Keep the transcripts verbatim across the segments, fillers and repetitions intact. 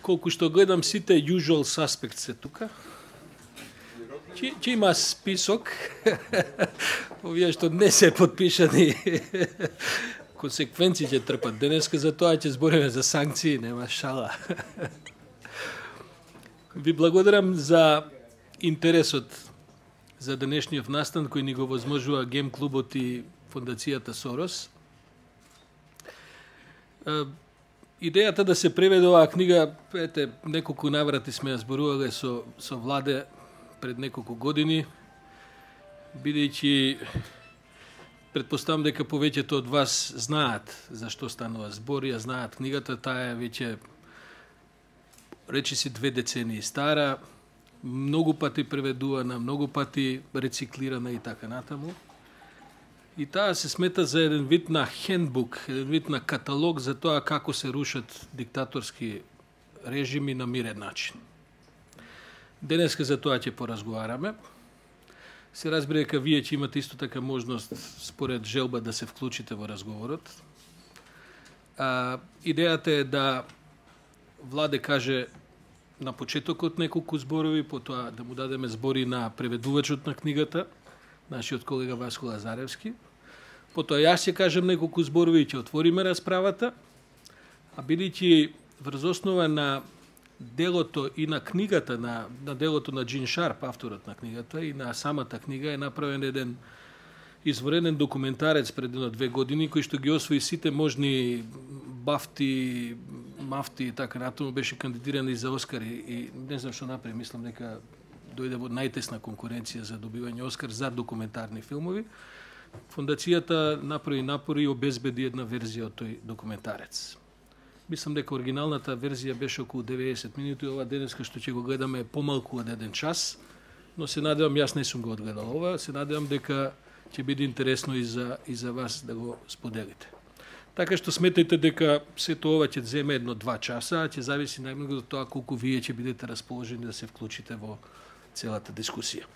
колку што гледам сите usual suspects се тука. Че, че има список, овие што не се подпишани, консеквенции ќе трпат. Денеска за тоа ќе збориме за санкции, нема шала. Ви благодарам за интересот за денешниот настан кој ни го возможува Гем клубот и Фондацијата Сорос. Идејата да се преведе оваа книга, ете, неколку наврати сме ја зборувале со, со Владе пред неколку години, бидејќи предпоставам дека повеќето од вас знаат за што станува збор, ја знаат книгата, таа е веќе речи си две децении стара, многу пати преведувана, многу пати рециклирана и така натаму. И таа се смета за еден вид на хендбук, еден вид на каталог за тоа како се рушат диктаторски режими на мирен начин. Денеска за тоа ќе поразговараме. Се разбира дека вие ќе имате исто така можност според желба да се вклучите во разговорот. А, идејата е да Владе каже на почетокот неколку зборови, потоа да му дадеме збори на преведувачот на книгата, нашиот колега Васко Лазаревски. Потоа јас ќе кажем неколку зборови и ќе отвориме расправата, а бидејќи врз основа на делото и на книгата, на, на делото на Джин Шарп, авторот на книгата, и на самата книга е направен еден изворенен документарец пред едно две години, кој што ги освои сите можни бафти, мафти и така натаму, беше кандидиран и за Оскар и, и не знам што направи, мислам дека дојде во најтесна конкуренција за добивање Оскар за документарни филмови. Фондацијата направи напори и обезбеди една верзија од тој документарец. Мислам дека оригиналната верзија беше околу деветдесет минути, ова денеска што ќе го гледаме е помалку од еден час, но се надевам, јас не сум го одгледал ова, се надевам дека ќе биде интересно и за, и за вас да го споделите. Така што сметајте дека сето ова ќе земе едно-два часа, а ќе зависи најмногу од тоа колку вие ќе бидете расположени да се вклучите во целата дискусија.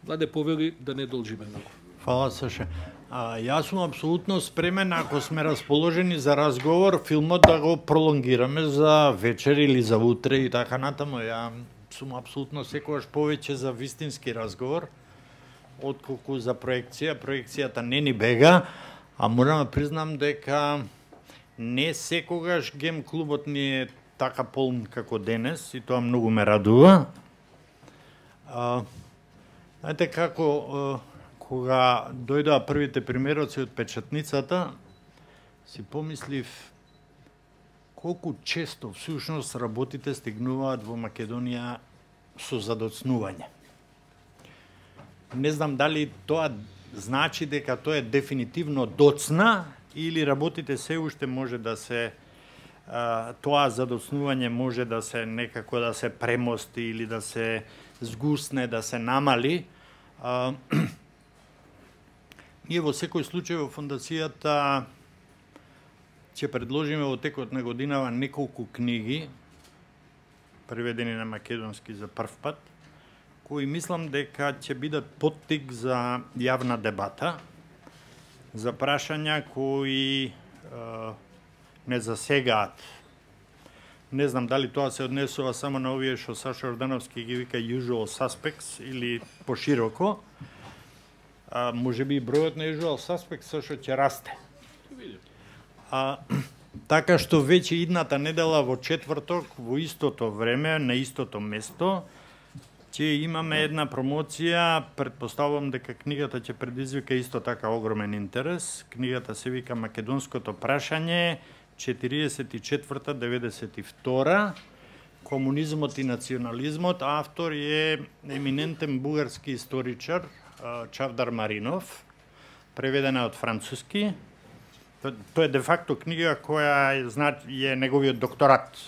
Владе, повели да не должиме многу. Фала, Саше. А, јас сум апсолутно спремен, ако сме расположени за разговор, филмот да го пролонгираме за вечер или за утре и така натаму. Ја сум апсолутно секогаш повеќе за вистински разговор, отколку за проекција. Проекцијата не ни бега, а морам да признам дека не секогаш Гем клубот ни е така полн како денес и тоа многу ме радува. А, знаете како, а, кога дојдоа првите примероци од печатницата, си помислив колку често всушност работите стигнуваат во Македонија со задоцнување. Не знам дали тоа значи дека тоа е дефинитивно доцна или работите се уште може да се а, тоа задоцнување може да се некако да се премости или да се згусне, да се намали. А, ние во секој случај во фондацијата ќе предложиме во текот на годинава неколку книги преведени на македонски за прв пат, кои мислам дека ќе бидат поттик за јавна дебата, за прашања кои е, не засегаат. Не знам дали тоа се однесува само на овие што Саша Ордановски ги вика usual suspects или пошироко. А, може би бројот на usual suspects сошто ќе расте. А, така што веќе идната недела во четврток, во истото време, на истото место, ќе имаме една промоција, предпоставувам дека книгата ќе предизвика исто така огромен интерес. Книгата се вика Македонското прашање, четириесет и четврта деветдесет и втора, комунизмот и национализмот. Автор е еминентен бугарски историчар Чавдар Маринов, преведена од француски. Тоа е де факто книга која е, е неговиот докторат.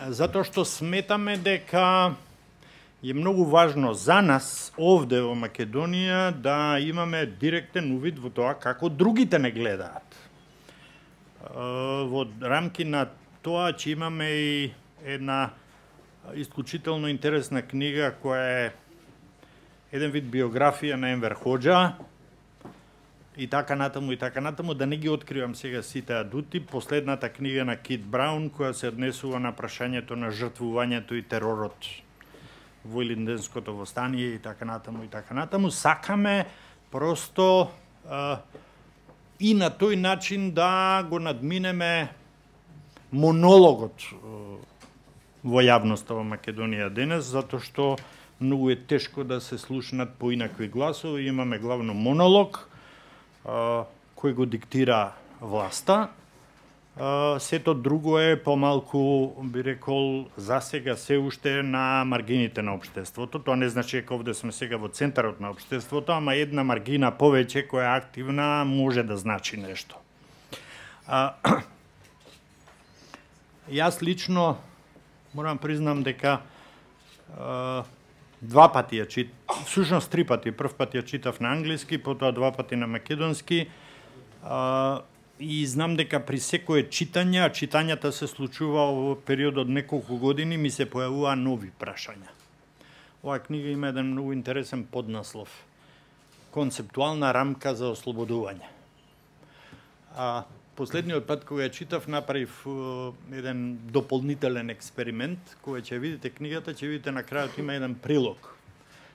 Затоа што сметаме дека е многу важно за нас овде во Македонија да имаме директен увид во тоа како другите не гледаат. Во рамки на тоа че имаме и една исклучително интересна книга која е еден вид биографија на Енвер Хоџа, и така натаму, и така натаму, да не ги откривам сега сите адути. Последната книга на Кит Браун, која се однесува на прашањето на жртвувањето и теророт во Илинденското востание и така натаму, и така натаму. Сакаме просто а, и на тој начин да го надминеме монологот во јавноста во Македонија денес, затоа што многу е тешко да се слушнат поинакви гласови. Имаме главно монолог, а, кој го диктира власта. А, сето друго е помалку, би рекол, засега се уште на маргините на општеството. Тоа не значи дека овде сме сега во центарот на општеството, ама една маргина повеќе која е активна може да значи нешто. А, јас лично морам признам дека а, два пати ја чит, всушност три пати. Прв пат ја читав на англиски, потоа два пати на македонски. А, и знам дека при секое читање, а читањата се случува во период од неколку години, ми се појавува нови прашања. Оваа книга има еден многу интересен поднаслов. Концептуална рамка за ослободување. А, Последниот пат кога ја читав, направив uh, еден дополнителен експеримент, кога ќе видите книгата, ќе видите на крајот има еден прилог.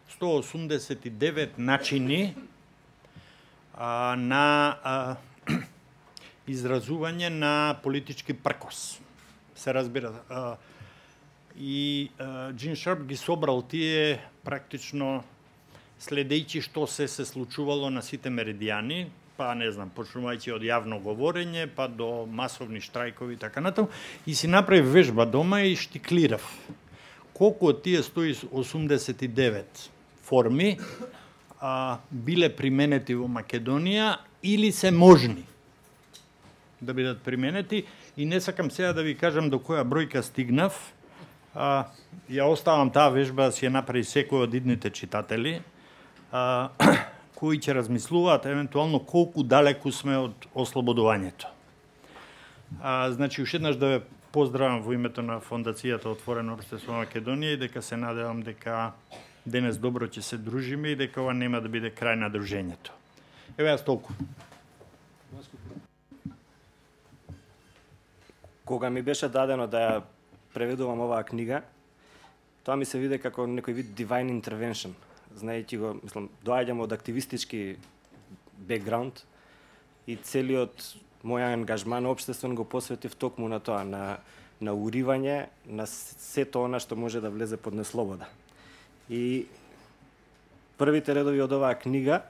сто осумдесет и девет начини а, на а, изразување на политички пркос. Се разбира. А, и а, Джин Шарп ги собрал тие практично следејќи што се се случувало на сите меридијани, па не знам, почнувајќи од јавно говорење, па до масовни штрајкови и така натаму, и си направив вежба дома и штиклирав колку од тие сто осумдесет и девет форми а, биле применети во Македонија или се можни да бидат применети, и не сакам сега да ви кажам до која бројка стигнав. А, ја оставам таа вежба да си ја направи секој од идните читатели, а, кои ќе размислуваат евентуално колку далеку сме од ослободувањето. А, значи, уште еднаш да ве поздравам во името на Фондацијата Отворено општество Македонија и дека се надевам дека денес добро ќе се дружиме и дека ова нема да биде крај на дружењето. Еве јас толку. Кога ми беше дадено да ја преведувам оваа книга, тоа ми се виде како некој вид divine intervention. Знаејќи го, мислам, доаѓам од активистички бекграунд и целиот мој ангажман општествен го посветив токму на тоа, на, на уривање на сето она што може да влезе под неслобода. И првите редови од оваа книга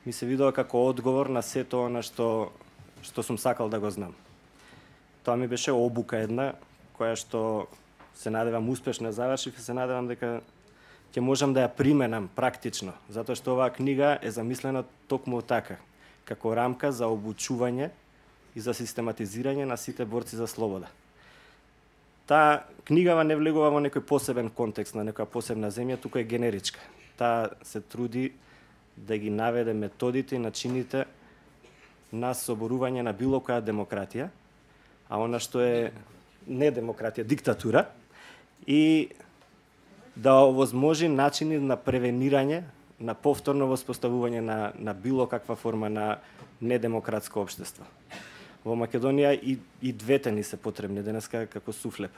ми се видува како одговор на сето она што, што сум сакал да го знам. Тоа ми беше обука една, која што се надевам успешно завршив и се надевам дека ќе можам да ја применам практично, затоа што оваа книга е замислена токму така, како рамка за обучување и за систематизирање на сите борци за слобода. Таа книгава не влегува во некој посебен контекст на некоја посебна земја, туку е генеричка. Таа се труди да ги наведе методите и начините на соборување на било која демократија, а она што е не демократија, диктатура, и да овозможи начини на превенирање, на повторно воспоставување на, на било каква форма на недемократско општество. Во Македонија и, и двете ни се потребни денеска како суфлеп.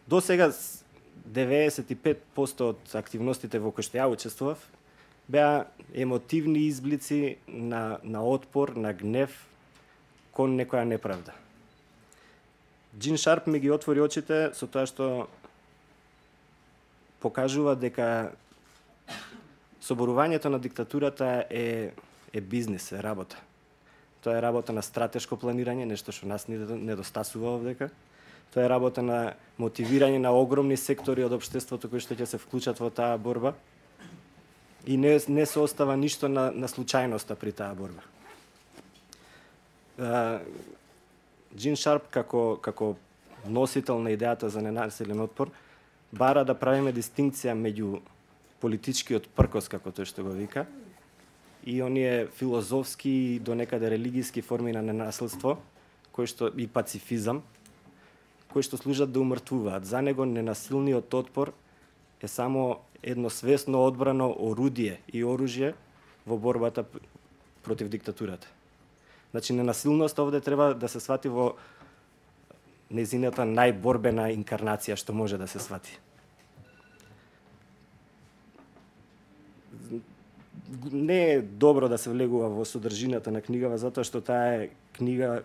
До сега деветдесет и пет проценти од активностите во кои што ја учествував беа емотивни изблици на, на отпор, на гнев кон некоја неправда. Джин Шарп ми ги отвори очите со тоа што покажува дека соборувањето на диктатурата е, е бизнис, е работа. Тоа е работа на стратешко планирање, нешто што нас недостасува овдека. Тоа е работа на мотивирање на огромни сектори од општеството кои што ќе се вклучат во таа борба. И не, не се остава ништо на, на случајноста при таа борба. Джин Шарп како, како носител на идејата за ненасилен отпор бара да правиме дистинкција меѓу политичкиот пркос, како тој што го вика, и оние филозофски и до некаде религиски форми на ненасилство, кои што и пацифизам, кои што служат да умртвуваат. За него ненасилниот отпор е само едно свесно одбрано орудие и оружје во борбата против диктатурата. Значи, ненасилноста овде треба да се свати во незината најборбена инкарнација што може да се свати. Не е добро да се влегува во содржината на книгава, затоа што таа е книга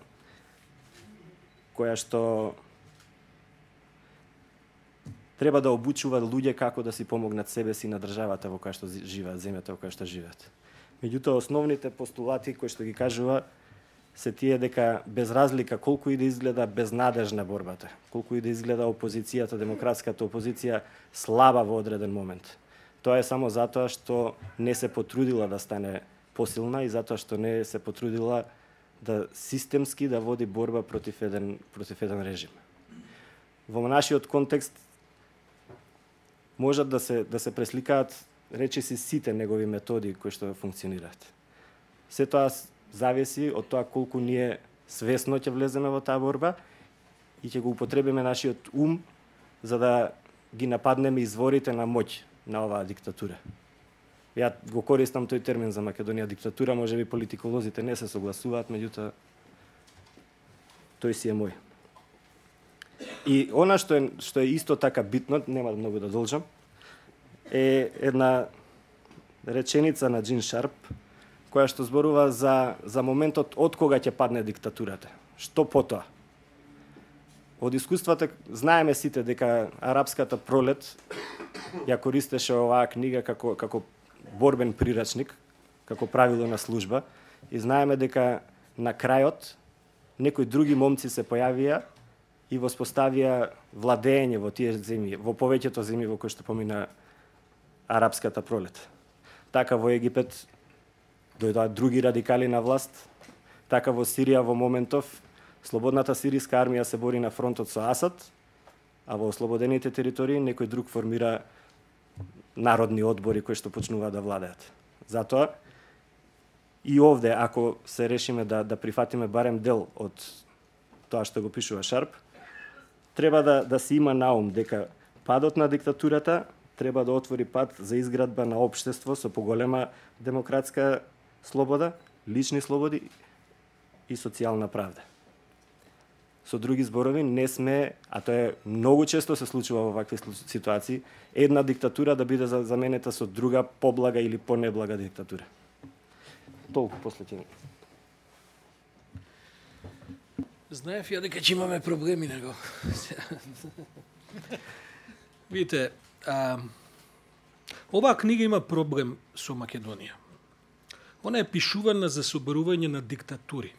која што треба да обучува луѓе како да си помогнат себе си на државата во која што живеат, земјата во која што живеат. Меѓутоа, основните постулати кои што ги кажува се тие дека без разлика колку и да изгледа безнадежна борбата, колку и да изгледа опозицијата, демократската опозиција слаба во одреден момент. Тоа е само затоа што не се потрудила да стане посилна и затоа што не се потрудила да системски да води борба против еден против еден режим. Во нашиот контекст можат да се да се пресликаат речиси сите негови методи кои што функционираат. Се тоа зависи од тоа колку ние свесно ќе влеземе во таа борба и ќе го употребиме нашиот ум за да ги нападнеме изворите на моќ на оваа диктатура. Ја го користам тој термин за Македонија диктатура, можеби политиколозите не се согласуваат, меѓутоа тој си е мој. И она што е што е исто така битно, нема многу да должам, е една реченица на Джин Шарп, која што зборува за, за моментот од кога ќе падне диктатурата. Што потоа? Од искуствата знаеме сите дека арапската пролет ја користеше оваа книга како, како борбен прирачник, како правило на служба, и знаеме дека на крајот некои други момци се појавија и воспоставија владење во тие земји, во повеќето земји во кои што помина арапската пролет. Така во Египет дојдоа други радикали на власт, така во Сирија во моментов слободната сиријска армија се бори на фронтот со Асад, а во ослободените територии некој друг формира народни одбори кои што почнуваат да владеат. Затоа и овде, ако се решиме да, да прифатиме барем дел од тоа што го пишува Шарп, треба да, да се има на ум дека падот на диктатурата треба да отвори пат за изградба на општество со поголема демократска слобода, лични слободи и социјална правда. Со други зборови, не сме, а тоа е многу често се случува во вакви ситуации, една диктатура да биде заменета со друга поблага или понеблага диктатура. Толку после ќе. Знаев ја дека ќе имаме проблеми него. Видите, а, оваа книга има проблем со Македонија. Она е пишувана за соборување на диктатури.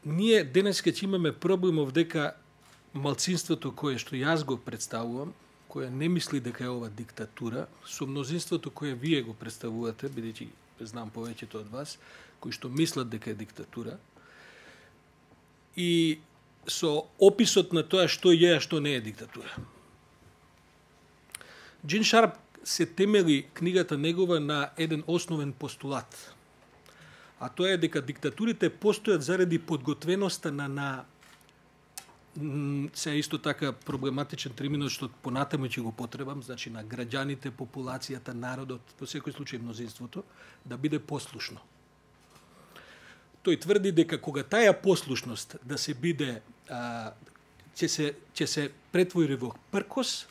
Ние денеска ќе имаме проблемов дека малцинството кое што јас го представувам, кое не мисли дека е ова диктатура, со мнозинството кое вие го представувате, бидејќи знам повеќето од вас, кои што мислат дека е диктатура, и со описот на тоа што е, а што не е диктатура. Джин Шарп се темели книгата негова на еден основен постулат, а тоа е дека диктатурите постојат заради подготвеноста на, на се исто така проблематичен термин што понатаму ќе го потребам, значи на граѓаните, популацијата, народот, во секој случај мнозинството, да биде послушно. Тој тврди дека кога таа послушност да се биде а, ќе се ќе се претвори во пркос,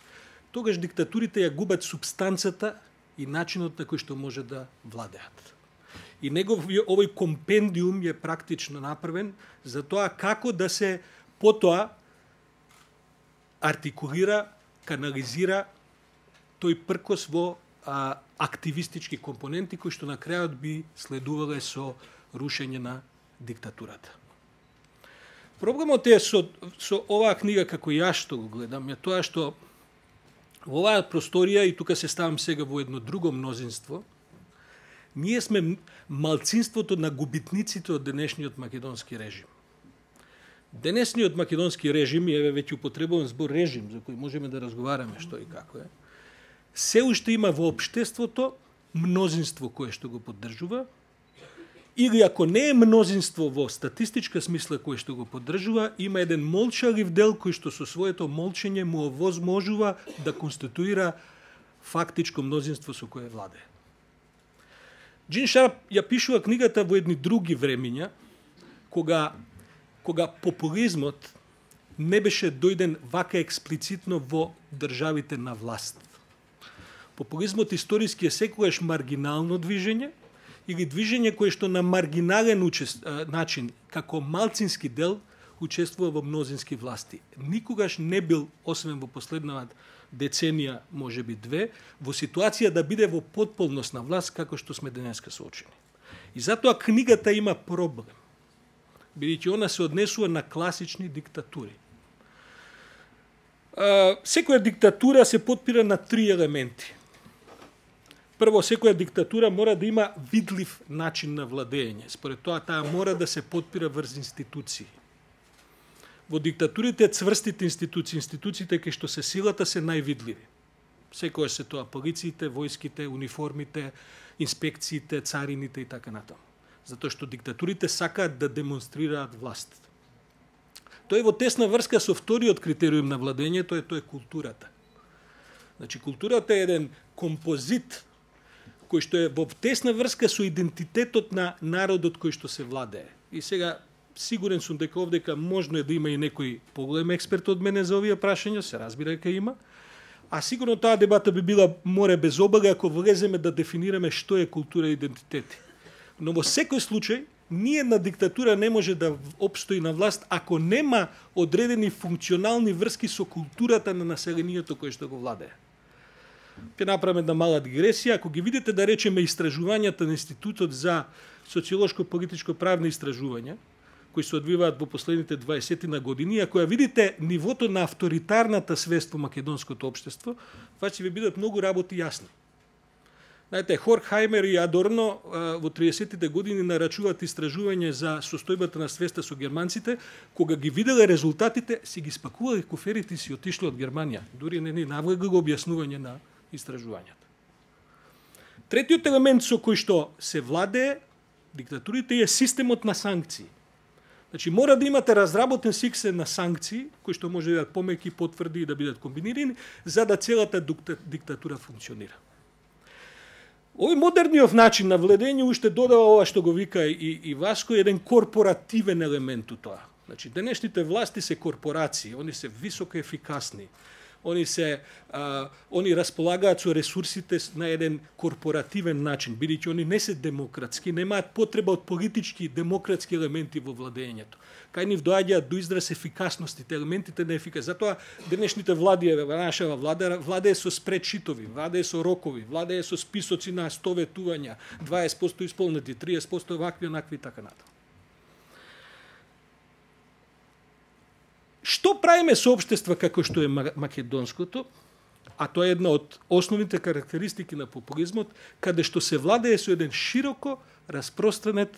тогаш диктатурите ја губат супстанцата и начинот на кој што може да владеат. И негов овој компендиум е практично направен за тоа како да се потоа артикулира, канализира тој пркос во а, активистички компоненти кои што на крајот би следувале со рушење на диктатурата. Проблемот е со, со оваа книга, како јас што го гледам, е тоа што во оваа просторија, и тука се ставам сега во едно друго мнозинство, ние сме малцинството на губитниците од денешниот македонски режим. Денешниот македонски режим, еве веќе употребувам збор режим, за кој можеме да разговараме што и како е, се уште има во општеството мнозинство кое што го поддржува, или ако не е мнозинство во статистичка смисла кое што го поддржува, има еден молчалив дел кој што со своето молчење му овозможува да конституира фактичко мнозинство со кое владее. Джин Шарп ја пишува книгата во едни други времиња, кога, кога популизмот не беше дојден вака експлицитно во државите на власт. Популизмот историски е секогаш маргинално движење или движење кое што на маргинален учест, начин, како малцински дел, учествува во мнозински власти. Никогаш не бил, освен во последната деценија, може би две, во ситуација да биде во потполност на власт, како што сме денеска соочени. И затоа книгата има проблем, бидејќи она се однесува на класични диктатури. Секоја диктатура се потпира на три елементи. Прво, секоја диктатура мора да има видлив начин на владење. Според тоа, таа мора да се потпира врз институции. Во диктатурите цврстите институции, институциите кај што се силата се највидливи. Секоја се тоа полициите, војските, униформите, инспекциите, царините и така натаму. Затоа што диктатурите сакаат да демонстрираат власт. Тоа е во тесна врска со вториот критериум на владење, тоа е тоа е културата. Значи културата е еден композит кој што е во тесна врска со идентитетот на народот кој што се владее. И сега сигурен сум дека овдека можно е да има и некој поголем експерт од мене за овие прашања, се разбира дека има. А сигурно таа дебата би била море без обага ако влеземе да дефинираме што е култура и идентитети. Но во секој случај, ние на диктатура не може да опстои на власт ако нема одредени функционални врски со културата на населението кое што го владее. Ќе направиме една мала дигресија. Ако ги видите, да речеме, истражувањата на Институтот за социолошко-политичко-правни истражувања, кои се одвиваат во последните дваесет години, ако ја видите нивото на авторитарната свест во македонското општество, това ќе ви бидат многу работи јасни. Знаете, Хоркхаймер и Адорно во триесеттите години нарачуваат истражување за состојбата на свеста со германците, кога ги виделе резултатите, си ги спакувале куферите и си отишле од Германија. Дури не ни навлегло објаснување на истражувањата. Третиот елемент со кој што се владее диктатурите е системот на санкции. Значи, мора да имате разработен систем на санкции, кои што може да бидат помеки, потврди и да бидат комбинирани, за да целата диктатура функционира. Овој модерниот начин на владење уште додава ова што го вика и, и Васко, еден корпоративен елемент у тоа. Значи, денешните власти се корпорации, они се високо ефикасни. Они се а, они располагаат со ресурсите на еден корпоративен начин, бидејќи они не се демократски, немаат потреба од политички демократски елементи во владењето. Кај нив доаѓаат до израз ефикасностите, елементите на ефикас. Затоа денешните влади, нашава влада, владее со спредшитови, владее со рокови, владее со списоци на сто ветувања, дваесет проценти исполнети, триесет проценти вакви, онакви и така натаму. Што правиме со општества како што е македонското, а тоа е една од основните карактеристики на популизмот, каде што се владее со еден широко распространет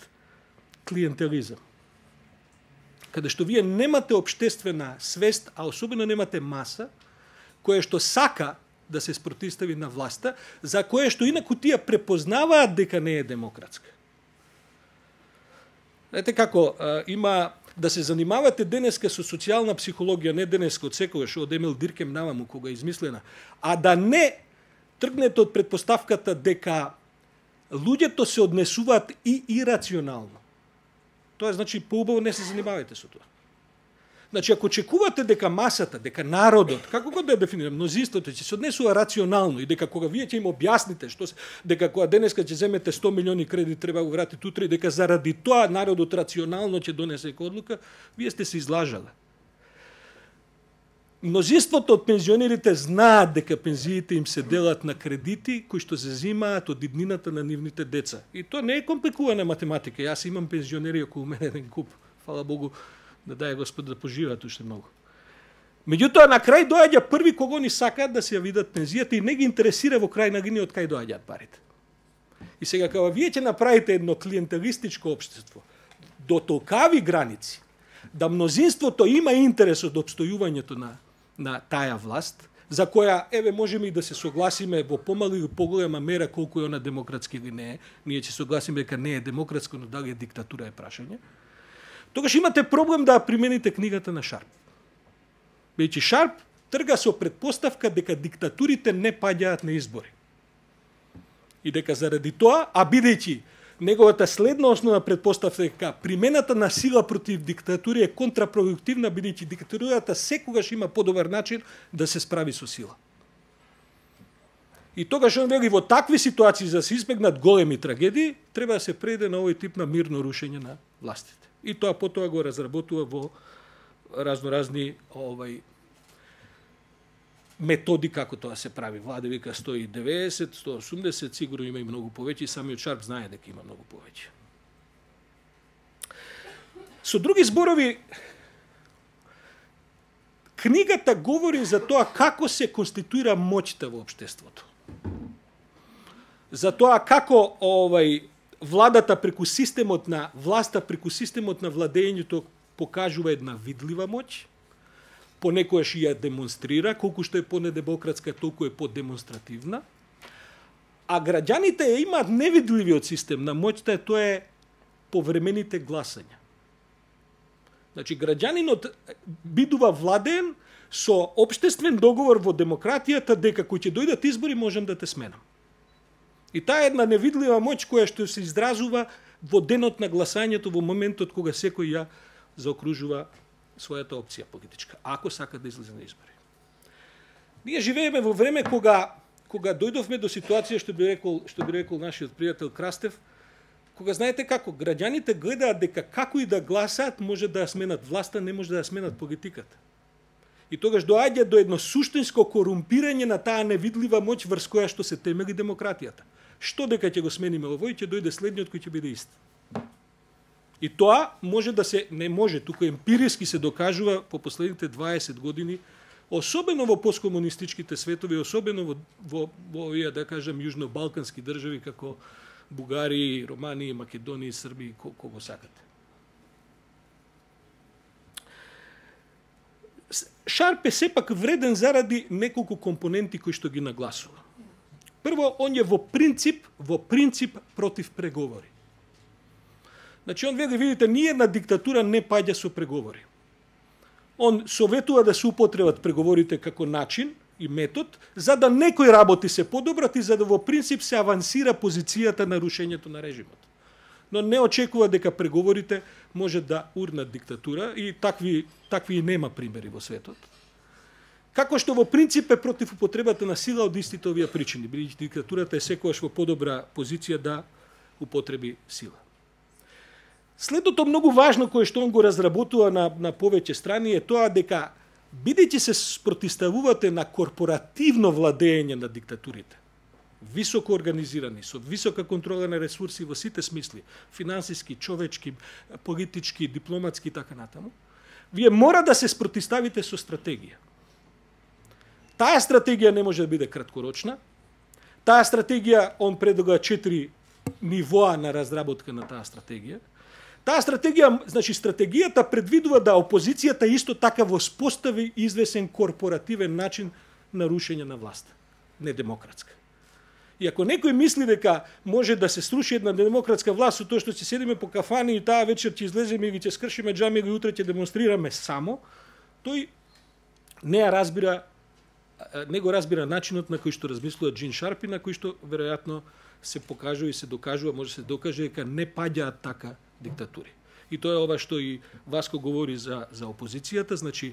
клиентелизам. Каде што вие немате општествена свест, а особено немате маса, која што сака да се спротивстави на власта, за која што инаку тие препознаваат дека не е демократска. Знаете како, а, има да се занимавате денеска со социјална психологија, не денеска од секогаш, од Емил Диркем наваму кога е измислена, а да не тргнете од предпоставката дека луѓето се однесуваат и ирационално. Тоа значи поубаво не се занимавајте со тоа. Значи, ако очекувате дека масата, дека народот, како го да дефинирам, мнозинството ќе се однесува рационално и дека кога вие ќе им објасните што се, дека кога денеска ќе земете сто милиони кредит треба го вратите утре, дека заради тоа народот рационално ќе донесе одлука, вие сте се излажале. Мнозинството од пензионерите знаат дека пензиите им се делат на кредити кои што се земаат од иднината на нивните деца. И тоа не е компликувана математика. Јас имам пензионери околу мене еден куп. Фала Богу, да дај Господ да поживеат уште многу. Меѓутоа, на крај доаѓа први кого ни сакаат да се ја видат пензијата и не ги интересира во крај на гини од кај доаѓаат парите. И сега, кога вие ќе направите едно клиентелистичко општество до толкави граници, да мнозинството има интерес од обстојувањето на, на таа власт, за која, еве, можеме и да се согласиме во помала или поголема мера колку е она демократски или не е, ние ќе согласиме дека не е демократско, но дали е диктатура е прашање, тогаш имате проблем да примените книгата на Шарп. Бидејќи Шарп трга со предпоставка дека диктатурите не паѓаат на избори. И дека заради тоа, а бидејќи неговата следна основна предпоставка е дека примената на сила против диктатури е контрапродуктивна, бидејќи диктатурата секогаш има подобар начин да се справи со сила. И тогаш он вели во такви ситуации за да се избегнат големи трагедии, треба да се преде на овој тип на мирно рушење на властите. И тоа потоа го разработува во разноразни овај методи како тоа се прави. Владе вика сто и деветдесет, сто и осумдесет, сигурно има и многу повеќе, самиот Шарп знае дека има многу повеќе. Со други зборови, книгата говори за тоа како се конституира моќта во општеството. За тоа како овај владата преку системот на власта, преку системот на владењето покажува една видлива моќ, понекојаш ја демонстрира, колку што е понедемократска, толку е подемонстративна, а граѓаните ја имаат невидливиот систем на моќта, тоа е повремените гласања. Значи, граѓанинот бидува владеен со општествен договор во демократијата дека кој ќе дојдат избори можам да те сменам. И таа е една невидлива моќ која што се изразува во денот на гласањето, во моментот кога секој ја заокружува својата опција политичка, ако сака да излезе на избори. Ние живееме во време кога кога дојдовме до ситуација што би рекол што би рекол нашиот пријател Крастев, кога знаете како граѓаните гледаат дека како и да гласаат може да ја сменат власта, не може да ја сменат политиката. И тогаш доаѓа до едно суштинско корумпирање на таа невидлива моќ врз која што се темели демократијата. Што дека ќе го смениме овој, ќе дојде следниот кој ќе биде ист. И тоа може да се, не може, туку емпириски се докажува по последните дваесет години, особено во посткомунистичките светови, особено во, во, во овие, да кажам, јужно-балкански држави, како Бугарија, Романија, Македонија, Србија, кого сакате. Шарп е сепак вреден заради неколку компоненти кои што ги нагласува. Прво, он е во принцип, во принцип против преговори. Значи, он вели, видите, ниједна диктатура не паѓа со преговори. Он советува да се употребат преговорите како начин и метод, за да некои работи се подобрат и за да во принцип се авансира позицијата на рушењето на режимот. Но не очекува дека преговорите може да урнат диктатура и такви, такви и нема примери во светот. Како што во принцип е против употребата на сила од истите овие причини, бидејќи диктатурата е секогаш во подобра позиција да употреби сила. Следното многу важно кое што он го разработува на, на повеќе страни е тоа дека бидејќи се спротиставувате на корпоративно владење на диктатурите, високо организирани, со висока контрола на ресурси во сите смисли, финансиски, човечки, политички, дипломатски и така натаму, вие мора да се спротиставите со стратегија. Таа стратегија не може да биде краткорочна. Таа стратегија, он предлага четири нивоа на разработка на таа стратегија. Таа стратегија, значи стратегијата предвидува да опозицијата исто така воспостави извесен корпоративен начин на рушење на власта, недемократска. И ако некој мисли дека може да се сруши една демократска власт со тоа што ќе седиме по кафани и таа вечер ќе излеземе и ќе скршиме џами или утре ќе демонстрираме само, тој не ја разбира, не го разбира начинот на кој што размислува Джин Шарп и на кој што веројатно се покажува и се докажува, може се докаже дека не паѓаат така диктатури. И тоа е ова што и Васко говори за за опозицијата, значи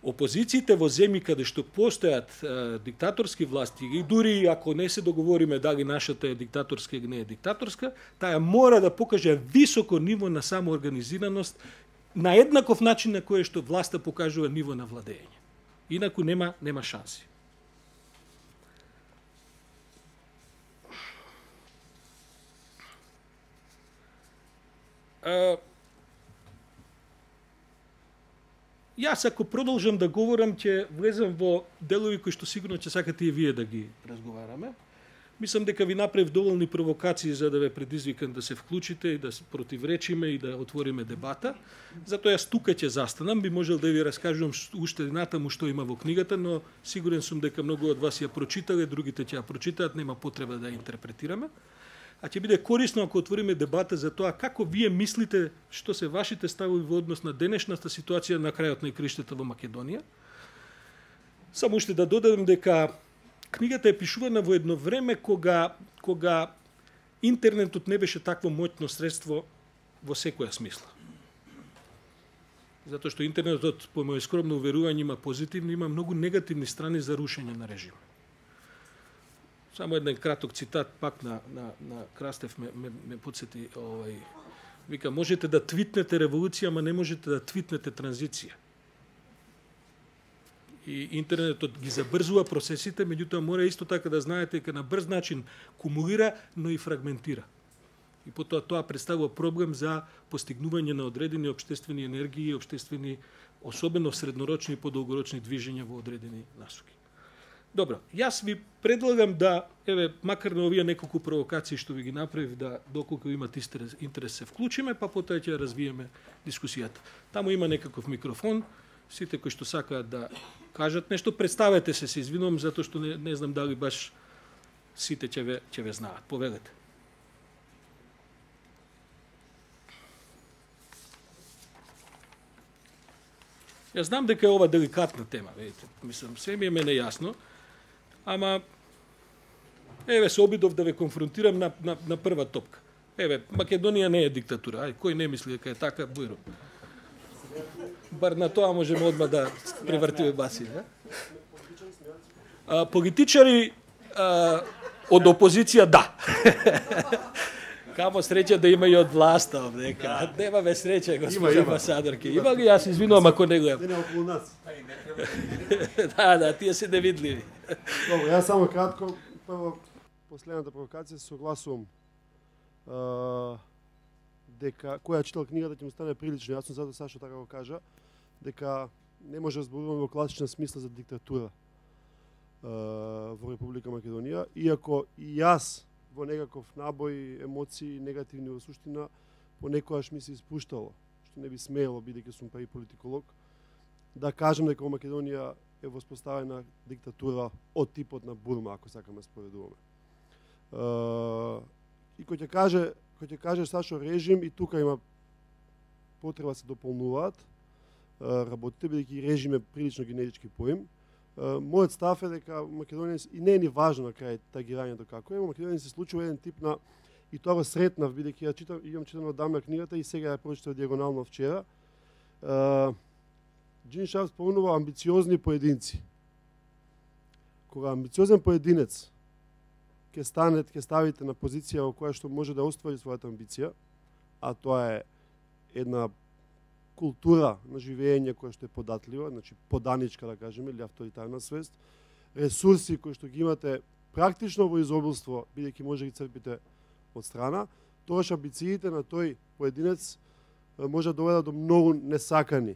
опозициите во земји каде што постојат е, диктаторски власти и дури ако не се договориме дали нашата е диктаторска или не е диктаторска, таа мора да покаже високо ниво на самоорганизираност на еднаков начин на кој што власта покажува ниво на владење. Инаку нема нема шанси. Uh, јас ако продолжам да говорам, ќе влезем во делови кои што сигурно ќе сакате и вие да ги разговараме. Мислам дека ви направив доволни провокации за да ве предизвикам да се вклучите и да се противречиме и да отвориме дебата. Затоа јас тука ќе застанам, би можел да ви раскажувам уште натаму што има во книгата, но сигурен сум дека многу од вас ја прочитале, другите ќе ја прочитаат, нема потреба да ја интерпретираме. А ќе биде корисно ако отвориме дебата за тоа како вие мислите што се вашите ставови во однос на денешната ситуација на крајот на игриштата во Македонија. Само уште да додадам дека книгата е пишувана во едно време кога кога интернетот не беше такво моќно средство во секоја смисла. Затоа што интернетот, по моје скромно уверување, има позитивни, има многу негативни страни за рушење на режим. Само еден краток цитат пак на на на Крастев ме ме, ме подсети, овај вика, можете да твитнете револуција, ама не можете да твитнете транзиција. И интернетот ги забрзува процесите, меѓутоа мора исто така да знаете дека на брз начин кумулира, но и фрагментира. И потоа тоа представува проблем за постигнување на одредени општествени енергии, општествени, особено среднорочни и подолгорочни движења во одредени насоки. Добро, јас ви предлагам да, еве, макар на овие неколку провокации што ви ги направив, да доколку имате интерес се вклучиме, па потоа ќе развиеме дискусијата. Таму има некаков микрофон, сите кои што сакаат да кажат нешто, представете се, се извинувам затоа што не, не знам дали баш сите ќе ве ќе ве знаат. Повелете. Јас знам дека е ова деликатна тема, видите. Мислам, се ми е мене јасно, ама еве се обидов да ве конфронтирам на, на, на прва топка. Еве, Македонија не е диктатура. Ај, кој не мисли дека е така, бујро. Бар на тоа можеме одма да превртиме баси, не? А, политичари а, од опозиција, да. Камо среќа да има и од власта овдека. Нема бе среќа, госпожа амбасадорке. Има ли, јас извинувам ако не гледам. Не, не, околу нас. Да, да, тие се невидливи. Добро, јас само кратко, прво, последната провокација, се согласувам дека која читал книгата ќе му стане прилично јасно, затоа Сашо така го кажа, дека не може да зборуваме во класична смисла за диктатура во Република Македонија, иако и јас во некаков набој емоции негативни во суштина понекогаш ми се испуштало, што не би смеело бидејќи сум па и политиколог, да кажам дека во Македонија е воспоставена диктатура од типот на Бурма, ако сакаме споредуваме. И кој ќе каже, кој ќе каже Сашо режим, и тука има потреба се дополнуваат работите, бидејќи режим е прилично генерички поим. Мојот став е дека Македонија, и не е ни важно на крај тагирањето како е, Македонија се случува еден тип на, и тоа го сретнав, бидејќи ја читам, имам читано одамна книгата и сега ја прочитав диагонално вчера. Джин Шарп спомнува амбициозни поединци. Кога амбициозен поединец ќе стане, ќе ставите на позиција во која што може да оствари својата амбиција, а тоа е една култура на живење која што е податлива, значи поданичка да кажеме, или авторитарна свест, ресурси кои што ги имате практично во изобилство, бидејќи може да ги црпите од страна, тогаш амбициите на тој поединец може да доведат до многу несакани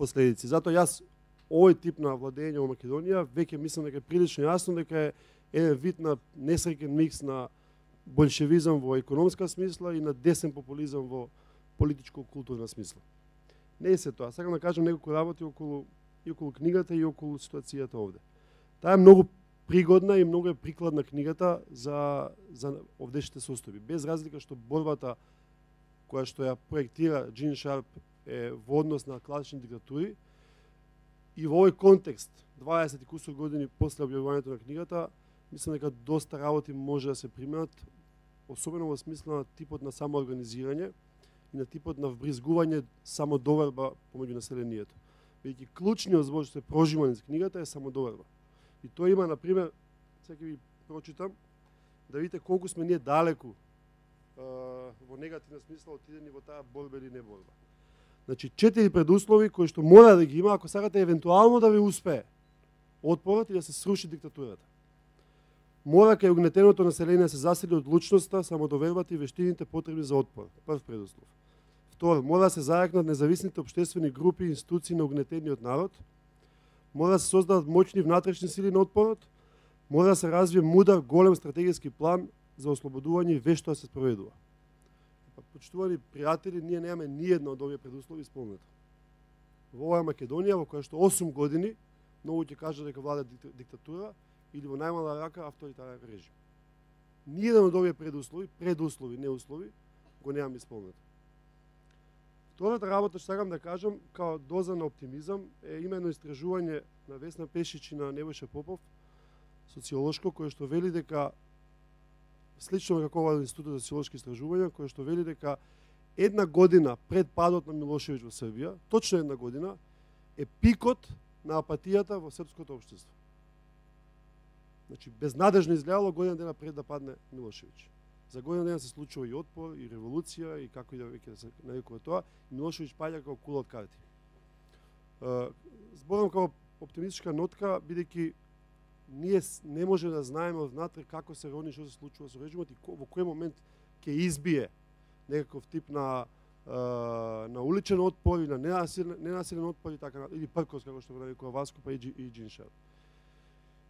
последици. Затоа јас овој тип на владење во Македонија веќе мислам дека е прилично јасно дека е еден вид на несреќен микс на болшевизам во економска смисла и на десен популизам во политичко-културна смисла. Не е се тоа. Сакам да кажам неколку работи околу и околу книгата и околу ситуацијата овде. Таа е многу пригодна и многу е прикладна книгата за за овдешните состојби. Без разлика што борбата која што ја проектира Джин Шарп е во однос на класични диктатури, и во овој контекст, дваесет и кусур години после објавувањето на книгата, мислам дека доста работи може да се применат, особено во смисла на типот на самоорганизирање и на типот на вбризгување самодоверба помеѓу населението. Бидејќи клучниот збор што се прожима низ книгата е самодоверба. И тоа има, на пример, сега ќе ви прочитам, да видите колку сме ние далеку а, во негативна смисла отидени во таа борба или не борба. Значи, четири предуслови кои што мора да ги има ако сакате евентуално да ви успее отпорот и да се сруши диктатурата. Мора кај угнетеното население се засили одлучноста, самодовербата и вештините потребни за отпор. Прв предуслов. Втор, мора да се зајакнат независните општествени групи и институции на угнетениот народ. Мора да се создадат моќни внатрешни сили на отпорот. Мора да се развие мудар, голем стратегиски план за ослободување и вешто да се спроведува. Почитувани пријатели, ние немаме ни една од овие предуслови исполнета. Во оваа Македонија, во која што осум години, многу ќе кажат дека влада диктатура, или во најмала рака авторитарен режим. Ни еден од овие предуслови, предуслови, не услови, го немам исполнет. Втората работа што сакам да кажам, као доза на оптимизам, е именно истражување на Весна Пешич и на Небојша Попов, социолошко кое што вели дека слично како ова Институт за социолошки истражувања, кое што вели дека една година пред падот на Милошевиќ во Србија, точно една година, е пикот на апатијата во српското општество. Значи, безнадежно изгледало година дена пред да падне Милошевиќ. За година дена се случува и отпор, и револуција, и како и да веќе да се нарекува тоа, и Милошевиќ паѓа како кула од карти. Зборам како оптимистичка нотка, бидејќи ние не може да знаеме однатре како се рони, што се случува со режимот и во кој момент ќе избие некаков тип на на уличен отпор или на ненасилен, ненасилен отпор и така, или пркос, како што го нарекува Васко, па и, и Джиншар.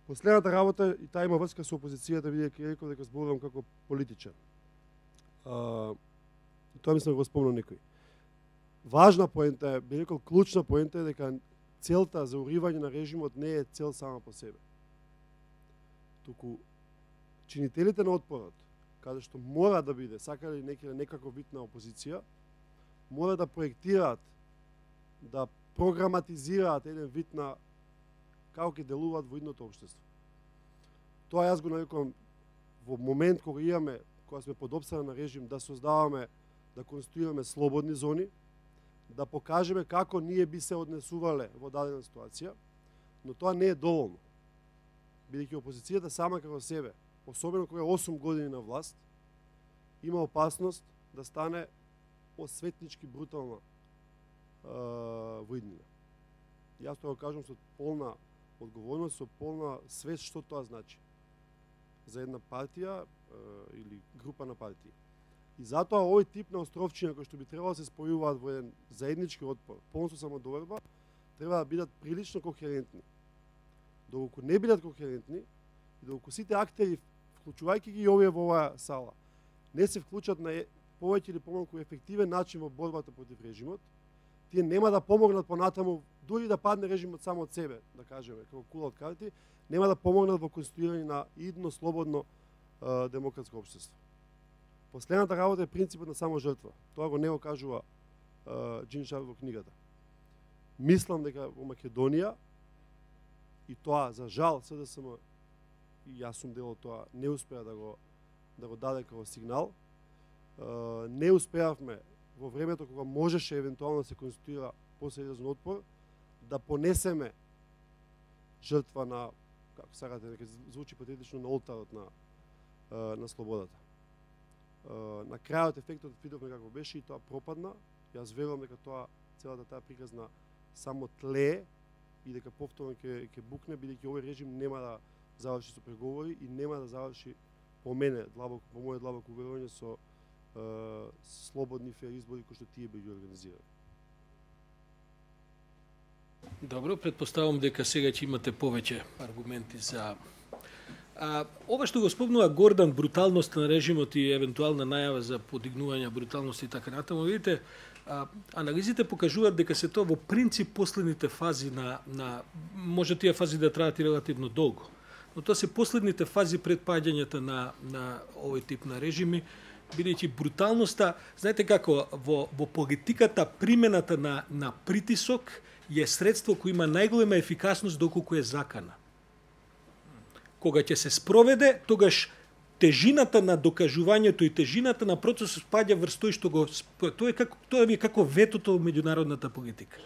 Последната работа, и таа има врска со опозицијата, бидејќи реков дека зборувам како политичар. А, тоа мислам го спомнал некој. Важна поента е, би рекол клучна поента е дека целта за уривање на режимот не е цел сама по себе. Туку чинителите на отпорот, каде што мора да биде, сакали некаде некаков вид на опозиција, мора да проектираат, да програматизираат еден вид на како ќе делуваат во идното општество. Тоа јас го нарекувам во момент кога имаме, кога сме под опсада на режим, да создаваме, да конституираме слободни зони, да покажеме како ние би се однесувале во дадена ситуација, но тоа не е доволно. Бидејќи опозицијата сама како себе, особено кога е осум години на власт, има опасност да стане осветнички брутална е, воиднина. Јас тоа го кажам со полна одговорност, со полна свест што тоа значи за една партија е, или група на партии. И затоа овој тип на островчиња кои што би требало да се спојуваат во еден заеднички отпор, полно со самодоверба, треба да бидат прилично кохерентни. Доколку не бидат кохерентни и доколку сите актери, вклучувајќи ги и овие во оваа сала, не се вклучат на повеќе или помалку ефективен начин во борбата против режимот, тие нема да помогнат понатаму, дури да падне режимот само од себе, да кажеме, како кула од карти, нема да помогнат во конституирање на идно, слободно е, демократско општество. Последната работа е принципот на само жртва. Тоа го не го кажува е, Джиншар во книгата. Мислам дека во Македонија, и тоа за жал СДСМ, и јас сум дел од тоа, не успеа да го да го даде како сигнал. Uh, не успеавме во времето кога можеше евентуално да се конституира посериозен отпор, да понесеме жртва на, како сакате, нека звучи патетично, на олтарот на, uh, на слободата. Uh, на крајот ефектот видовме како беше и тоа пропадна. Јас верувам дека тоа, целата таа приказна само тлее и дека повторно ќе ќе букне, бидејќи овој режим нема да заврши со преговори и нема да заврши по мене, длабоко, по моје длабоко уверување, со Uh, слободни фер избори кои што тие би ги организирали. Добро, предпоставам дека сега ќе имате повеќе аргументи за а, ова што го спомнува Гордан, бруталност на режимот и евентуална најава за подигнување бруталност и така натаму. Видите, а, анализите покажуваат дека се тоа во принцип последните фази на, на може тие фази да траат и релативно долго, но тоа се последните фази пред паѓањето на, на овој тип на режими, бидејќи бруталноста, знаете како, во, во политиката примената на, на притисок е средство кој има најголема ефикасност доколку е закана. Кога ќе се спроведе, тогаш тежината на докажувањето и тежината на процесот спаѓа врз тој што го тоа е како тоа е како ветото во меѓународната политика.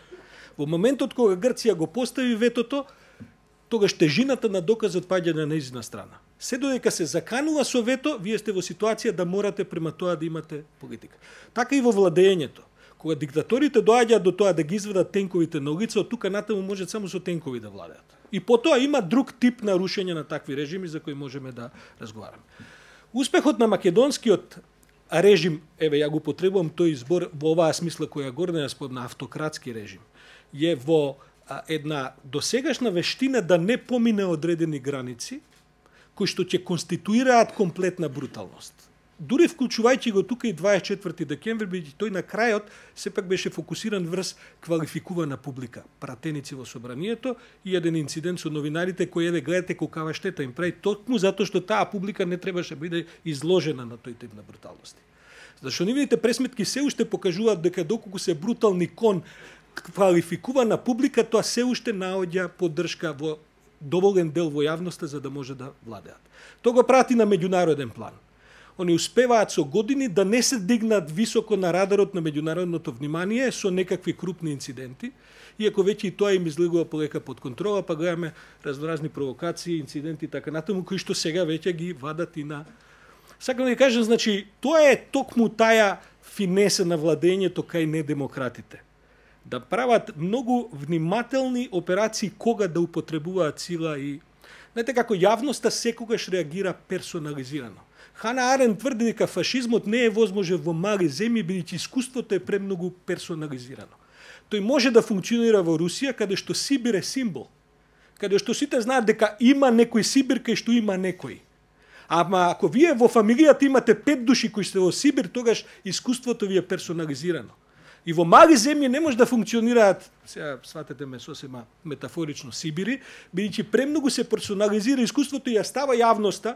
Во моментот кога Грција го постави ветото, тогаш тежината на доказот паѓа на нејзина страна. Се додека се заканува со вето, вие сте во ситуација да морате према тоа да имате политика. Така и во владењето. Кога диктаторите доаѓаат до тоа да ги изведат тенковите на улица, од тука натаму може само со тенкови да владеат. И потоа има друг тип на рушење на такви режими за кои можеме да разговараме. Успехот на македонскиот режим, еве ја го потребувам тој избор во оваа смисла која Гордан ја спомна, автократски режим, е во а, една досегашна вештина да не помине одредени граници, кои што ќе конституираат комплетна бруталност. Дури вклучувајќи го тука и дваесет и четврти декември, бидејќи тој на крајот сепак беше фокусиран врз квалификувана публика, пратеници во собранието и еден инцидент со новинарите кои еве гледате колкава штета им прави токму затоа што таа публика не требаше да биде изложена на тој тип на бруталности. Зашто нивните пресметки се уште покажуваат дека доколку се брутални кон квалификувана публика, тоа се уште наоѓа поддршка во доволен дел во јавноста за да може да владеат. Тоа го прати на меѓународен план. Они успеваат со години да не се дигнат високо на радарот на меѓународното внимание со некакви крупни инциденти, иако веќе и тоа им излегува полека под контрола, па гледаме разноразни провокации, инциденти и така натаму, кои што сега веќе ги вадат и на... Сакам да ви кажам, значи, тоа е токму таја финеса на владењето кај недемократите. Да прават многу внимателни операции кога да употребуваат сила и... Знаете како јавноста секогаш реагира персонализирано. Хана Арен тврди дека фашизмот не е возможен во мали земји, бидејќи искуството е премногу персонализирано. Тој може да функционира во Русија, каде што Сибир е символ. Каде што сите знаат дека има некој Сибир, кај што има некој. Ама ако вие во фамилијата имате пет души кои сте во Сибир, тогаш искуството ви е персонализирано. И во мали земји не може да функционираат, сега сватете ме сосема метафорично, Сибири, бидејќи премногу се персонализира искуството и ја става јавноста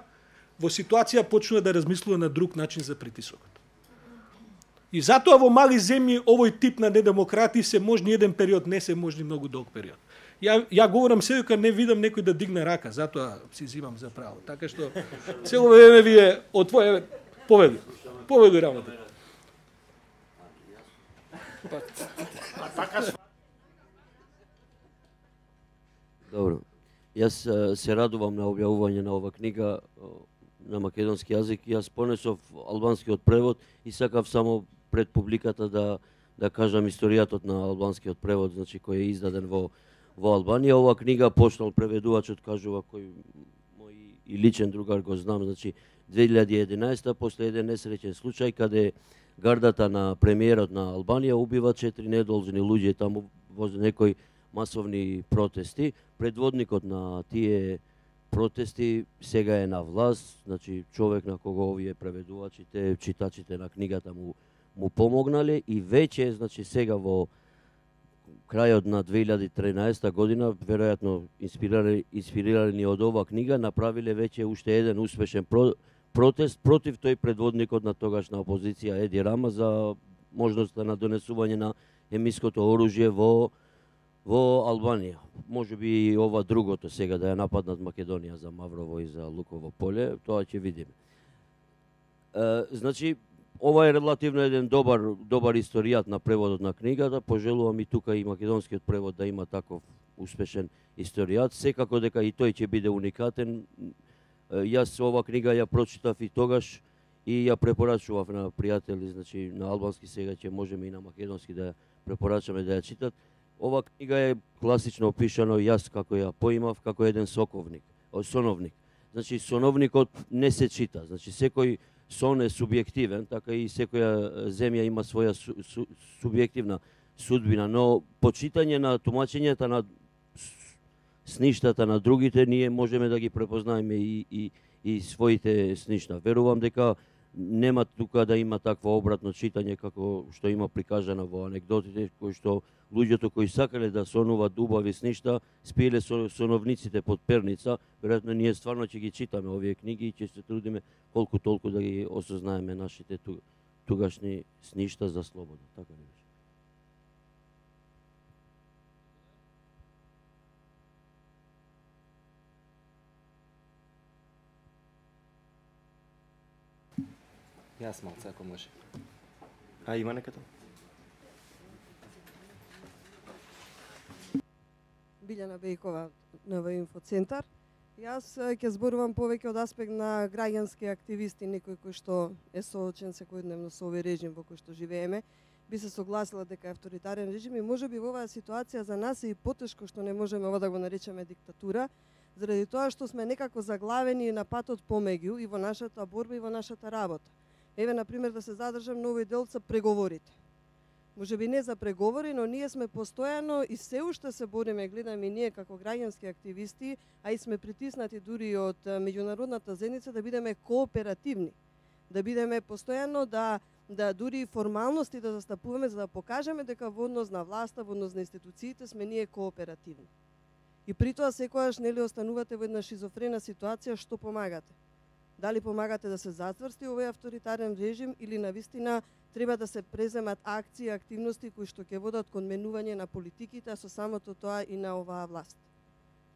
во ситуација почнува да размислува на друг начин за притисокот. И затоа во мали земји овој тип на недемократии се можни еден период, не се можни многу долг период. Ја, ја говорам се дека не видам некој да дигне рака, затоа си зимам за право. Така што цело време ви е отвоје повели. Повели работа. Добро. Јас се радувам на објавување на ова книга на македонски јазик. Јас понесов албанскиот превод и сакав само пред публиката да да кажам историјатот на албанскиот превод, значи кој е издаден во во Албанија. Ова книга почнал преведувачот, кажува, кој мој и личен другар го знам, значи две илјади и единаесета после еден несреќен случај каде гардата на премиерот на Албанија убива четири недолжни луѓе таму во некои масовни протести. Предводникот на тие протести сега е на власт, значи човек на кого овие преведувачите, читачите на книгата му му помогнале и веќе, значи сега во крајот на две илјади и транаесета година, веројатно инспирирани, инспирирани од оваа книга, направиле веќе уште еден успешен про, протест против тој предводникот на тогашна опозиција Еди Рама за можноста на донесување на хемиското оружје во во Албанија. Може би и ова другото сега да ја нападнат Македонија за Маврово и за Луково поле, тоа ќе видиме. Е, значи ова е релативно еден добар добар историјат на преводот на книгата. Пожелувам и тука и македонскиот превод да има таков успешен историјат. Секако дека и тој ќе биде уникатен. Јас ова книга ја прочитав и тогаш и ја препорачував на пријатели, значи на албански, сега ќе можеме и на македонски да ја препорачаме да ја читат. Ова книга е класично опишано, јас како ја поимав, како еден соковник, соновник. Значи соновникот не се чита, значи секој сон е субјективен, така и секоја земја има своја су, су, субјективна судбина, но по читање на тумачењата на сништата на другите, ние можеме да ги препознаеме и, и, и своите сништа. Верувам дека нема тука да има такво обратно читање како што има прикажано во анекдотите, кои што луѓето кои сакале да сонуваат убави сништа, спиеле со соновниците под перница. Веројатно ние стварно ќе ги читаме овие книги и ќе се трудиме колку толку да ги осознаеме нашите тугашни сништа за слобода. Така ли беше? Јас малце, ако може. А има некато? Билјана Бејкова, НВ Инфоцентар. Јас ќе зборувам повеќе од аспект на граѓански активисти, некој кој што е соочен секојдневно со овој режим во кој што живееме. Би се согласила дека е авторитарен режим и можеби во оваа ситуација за нас е и потешко што не можеме ова да го наречеме диктатура, заради тоа што сме некако заглавени на патот помеѓу и во нашата борба и во нашата работа. Еве, например, да се задржам на овој дел за преговорите. Може би не за преговори, но ние сме постојано и се уште се бориме, гледаме и ние како граѓански активисти, а и сме притиснати дури од меѓународната заедница да бидеме кооперативни. Да бидеме постојано, да, да дури формалности да застапуваме, за да покажеме дека во однос на власта, во однос на институциите сме ние кооперативни. И при тоа секојаш нели останувате во една шизофрена ситуација, што помагате? Дали помагате да се затврсти овој авторитарен режим или навистина треба да се преземат акции и активности кои што ќе водат кон менување на политиките, а со самото тоа и на оваа власт.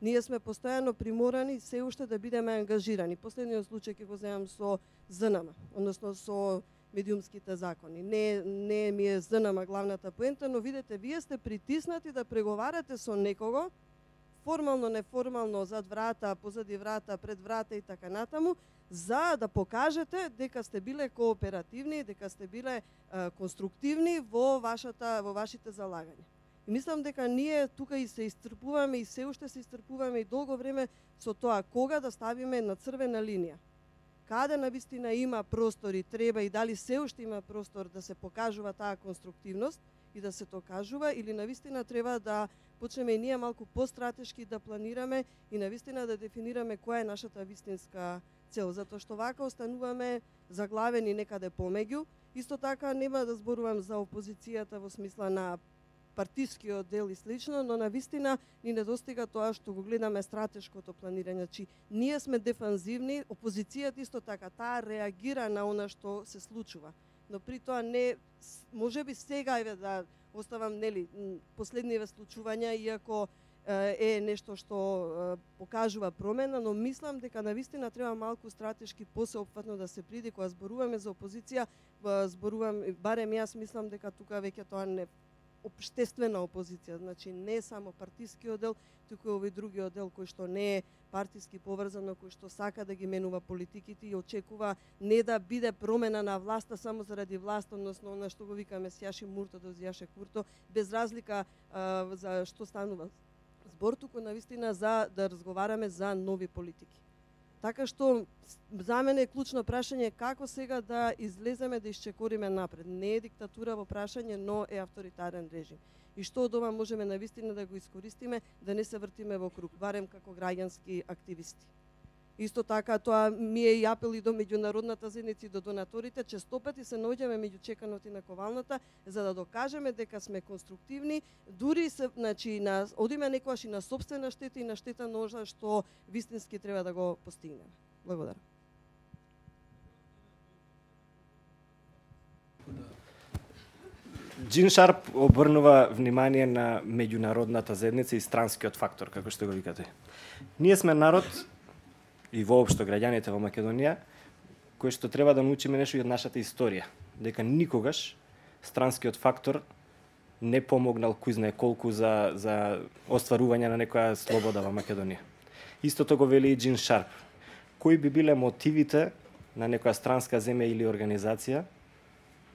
Ние сме постојано приморани се уште да бидеме ангажирани. Последниот случај ќе го земам со З Н М, односно со медиумските закони. Не, не ми е З Н М главната поента, но видете, вие сте притиснати да преговарате со некого, формално, неформално, зад врата, позади врата, пред врата и така натаму, за да покажете дека сте биле кооперативни, дека сте биле а, конструктивни во вашата во вашите залагања. И мислам дека ние тука и се истрпуваме и се уште се истрпуваме и долго време со тоа кога да ставиме на црвена линија. Каде навистина има простор и треба и дали се уште има простор да се покажува таа конструктивност и да се докажува, или навистина треба да почнеме и ние малку постратешки да планираме и навистина да дефинираме која е нашата вистинска цел, затоа што вака остануваме заглавени некаде помеѓу. Исто така нема да зборувам за опозицијата во смисла на партискиот дел и слично, но навистина ни недостига тоа што го гледаме стратешкото планирање. Чи ние сме дефанзивни, опозицијата исто така, таа реагира на она што се случува. Но при тоа не, можеби сега еве да оставам нели последниве случувања, иако е нешто што покажува промена, но мислам дека навистина треба малку стратешки посеопфатно да се приди кога зборуваме за опозиција, зборувам, барем јас мислам дека тука веќе тоа не општествена опозиција, значи не само партискиот дел, туку и овој другиот дел кој што не е партиски поврзано, кој што сака да ги менува политиките и очекува не да биде промена на власта само заради власт, односно она што го викаме сјаши мурто да зјаше курто, без разлика а, за што станува збор, туку навистина за да разговараме за нови политики. Така што за мене е клучно прашање како сега да излеземе да исчекориме напред. Не е диктатура во прашање, но е авторитарен режим. И што од ова можеме навистина да го искористиме, да не се вртиме во круг, барем како граѓански активисти. Исто така, тоа ми е и апел и до меѓународната заедница и до донаторите, често пати се наоѓаме меѓу чеканот и наковалната, за да докажеме дека сме конструктивни, дури се, значи, на, одиме некојаш и на сопствена штета и на штета на она што вистински треба да го постигнеме. Благодарам. Джин Шарп обрнува внимание на меѓународната заедница и странскиот фактор, како што го викате. Ние сме народ и воопшто граѓаните во Македонија, кои што треба да научиме нешто и од нашата историја, дека никогаш странскиот фактор не помогнал кој знае колку за за остварување на некоја слобода во Македонија. Истото го вели и Джин Шарп. Кои би биле мотивите на некоја странска земја или организација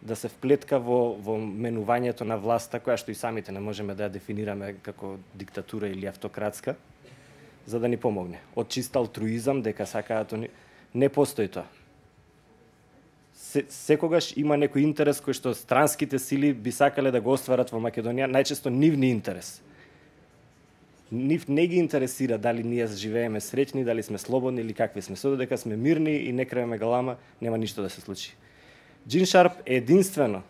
да се вплетка во во менувањето на власта, која што и самите не можеме да ја дефинираме како диктатура или автократска, за да ни помогне. Од чист алтруизам, дека сакаат они, не постои тоа. Се, секогаш има некој интерес кој што странските сили би сакале да го остварат во Македонија, најчесто нивни интерес. Нив не ги интересира дали ние живееме среќни, дали сме слободни или какви сме. Со додека сме мирни и не крееме галама, нема ништо да се случи. Джин Шарп единствено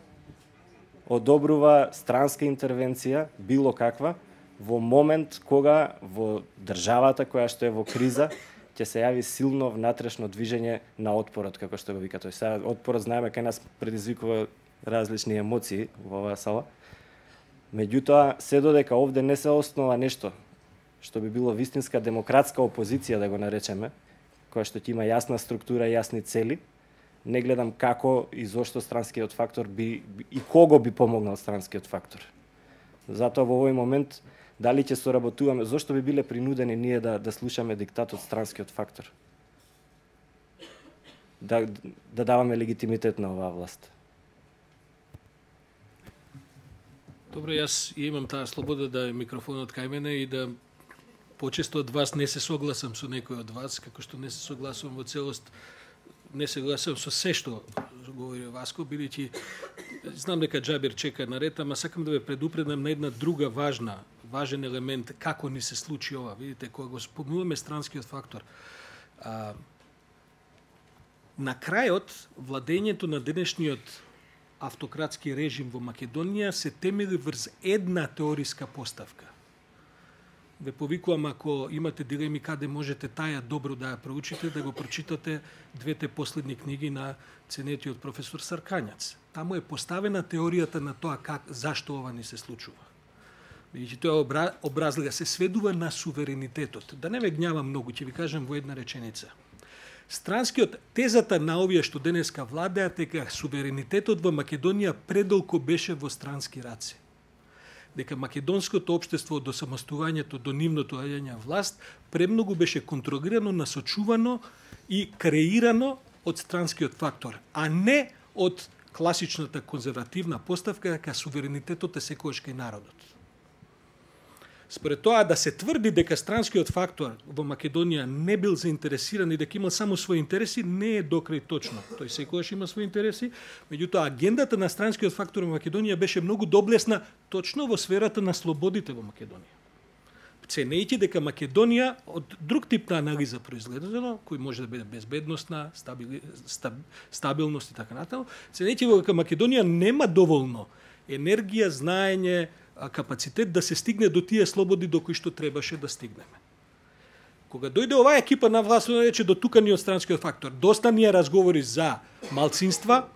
одобрува странска интервенција, било каква, во момент кога во државата која што е во криза ќе се јави силно внатрешно движење на отпорот, како што го вика тој. Сега отпорот знаеме кај нас предизвикува различни емоции во оваа сала. Меѓутоа, се додека овде не се основа нешто што би било вистинска демократска опозиција, да го наречеме, која што ќе има јасна структура и јасни цели, не гледам како и зошто странскиот фактор би и кого би помогнал странскиот фактор. Затоа во овој момент дали ќе соработуваме, зошто би биле принудени ние да да слушаме диктатот странскиот фактор? Да да даваме легитимитет на оваа власт. Добро, јас имам таа слобода да е микрофонот кај мене и да почесто од вас не се согласам со некој од вас, како што не се согласувам во целост, не се согласувам со се што говори Васко, бидејќи знам дека Џабир чека на ред, ама сакам да ве предупредам на една друга важна, важен елемент како ни се случи ова. Видите, кога го спомнуваме странскиот фактор, а, на крајот владењето на денешниот автократски режим во Македонија се темели врз една теориска поставка. Ве повикувам, ако имате дилеми каде можете таја добро да ја проучите, да го прочитате двете последни книги на ценетиот професор Саркањац. Таму е поставена теоријата на тоа как, зашто ова ни се случува. Бидејќи тоа обра, образлага се сведува на суверенитетот. Да не ве гнјавам многу, ќе ви кажам во една реченица. Странскиот тезата на овие што денеска владеат дека суверенитетот во Македонија предолго беше во странски раце. Дека македонското општество до самостувањето, до нивното доаѓање власт, премногу беше контролирано, насочувано и креирано од странскиот фактор, а не од класичната конзервативна поставка дека суверенитетот е секојаш кај народот. Според тоа да се тврди дека странскиот фактор во Македонија не бил заинтересиран и дека имал само своји интереси, не е докрај точно. Тој секогаш има своји интереси, меѓутоа агендата на странскиот фактор во Македонија беше многу доблесна точно во сферата на слободите во Македонија. Ценејќи дека Македонија од друг тип на анализа произгледано, кој може да биде безбедносна, стабили, стаб, стабилност и така натаму, ценејќи дека Македонија нема доволно енергија, знаење, капацитет да се стигне до тие слободи до кои што требаше да стигнеме. Кога дојде оваа екипа на власт, рече до тука ни од странскиот фактор. Доста ни е разговори за малцинства,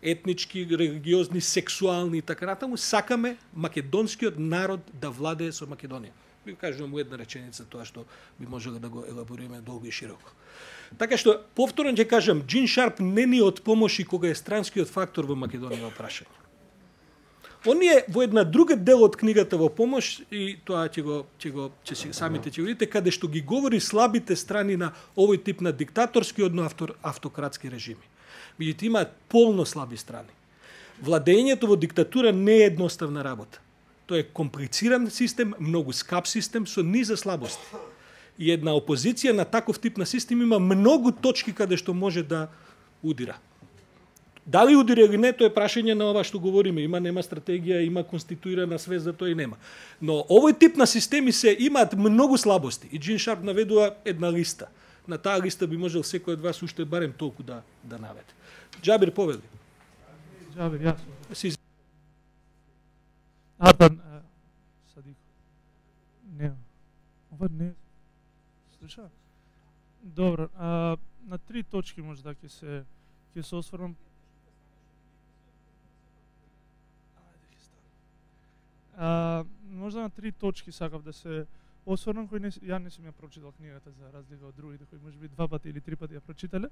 етнички, религиозни, сексуални и така натаму. Сакаме македонскиот народ да владее со Македонија. Ви кажувам во една реченица тоа што би можело да го елабориме долго и широко. Така што повторно ќе кажам, Джин Шарп не ни од помоши кога е странскиот фактор во Македонија во прашање. Он е во една друга дел од книгата во помош и тоа ќе го ќе го ќе си самите ќе видите каде што ги говори слабите страни на овој тип на диктаторски одно автор, автократски режими. Меѓутоа има полно слаби страни. Владењето во диктатура не е едноставна работа. Тоа е комплициран систем, многу скап систем со низа слабости. И една опозиција на таков тип на систем има многу точки каде што може да удира. Дали удира или не, тоа е прашање на ова што говориме. Има, нема стратегија, има конституирана свест, за тоа и нема. Но овој тип на системи се имаат многу слабости. И Джин Шарп наведува една листа. На таа листа би можел секој од вас уште барем толку да да наведе. Џабир, повели. Џабир, јасно. Си... Ардан, Садик. Не. Ова не. Слуша? Добро, а, на три точки може да ќе се ќе се осврнам. А, можда на три точки сакав да се осврнам, кои не, ја не сум ја прочитал книгата за разлика од другите кои можеби два пати или три пати ја прочитале.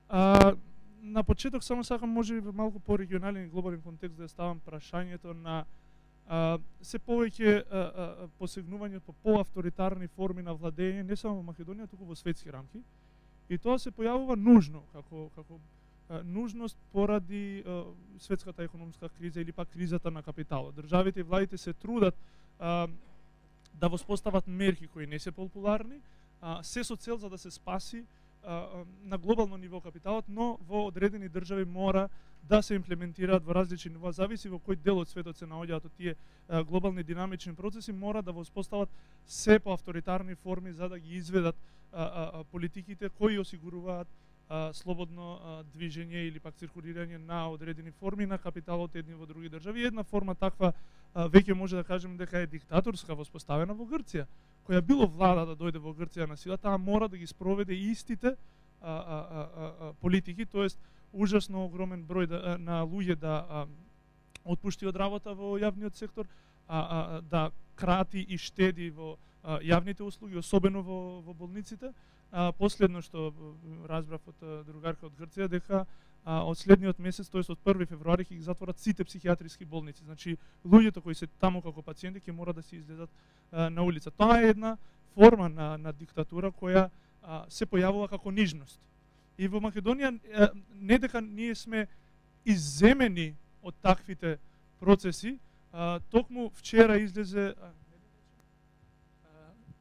А, на почеток само сакам можеби малку по-регионален и глобален контекст да ставам прашањето на а, се повеќе а, а, посегнување по поавторитарни форми на владење не само во Македонија, туку во светски рамки. И тоа се појавува нужно како како нужност поради а, светската економска криза или пак кризата на капиталот. Државите и владите се трудат а, да воспостават мерки кои не се популарни, а, се со цел за да се спаси а, на глобално ниво капиталот, но во одредени држави мора да се имплементираат во различни нива, зависи во кој дел од светот се наоѓаат од тие а, глобални динамични процеси, мора да воспостават се по авторитарни форми за да ги изведат а, а, политиките кои осигуруваат а, слободно а, движење или пак циркулирање на одредени форми на капиталот едни во други држави. Една форма таква а, веќе може да кажеме дека е диктаторска, воспоставена во Грција, која било влада да дојде во Грција на сила, таа мора да ги спроведе истите а, а, а, а, политики, тоест ужасно огромен број да, на луѓе да а, отпушти од работа во јавниот сектор, а, а, да крати и штеди во а, јавните услуги, особено во, во болниците. А, последно што разбрав од другарка од Грција, дека а, од следниот месец, тоест од први февруари, ќе ги затворат сите психијатриски болници. Значи, луѓето кои се таму како пациенти ќе мора да се излезат а, на улица. Тоа е една форма на, на диктатура која а, се појавува како нижност. И во Македонија не дека ние сме изземени од таквите процеси, а, токму вчера излезе а,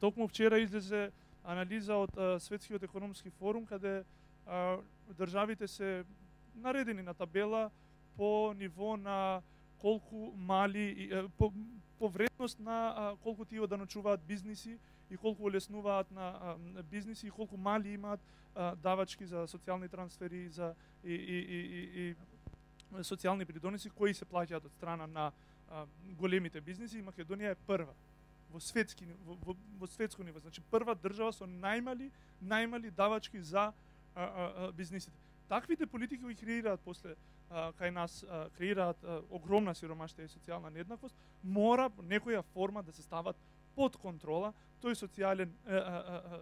токму вчера излезе анализа од а, Светскиот економски форум каде а, државите се наредени на табела по ниво на колку мали по, по вредност на а, колку тие оданочуваат бизниси и колку олеснуваат на а, бизниси и колку мали имаат а, давачки за социјални трансфери за и, и, и, и, и социјални придоноси кои се плаќаат од страна на а, големите бизниси. И Македонија е прва во светски во, во, во светско ниво, значи прва држава со најмали најмали давачки за а, а, а, бизнисите. Таквите политики ги креираат после а, кај нас а, креираат а, огромна сиромаштија и социјална нееднаквост, мора некоја форма да се стават под контрола, тој социјален а, а, а,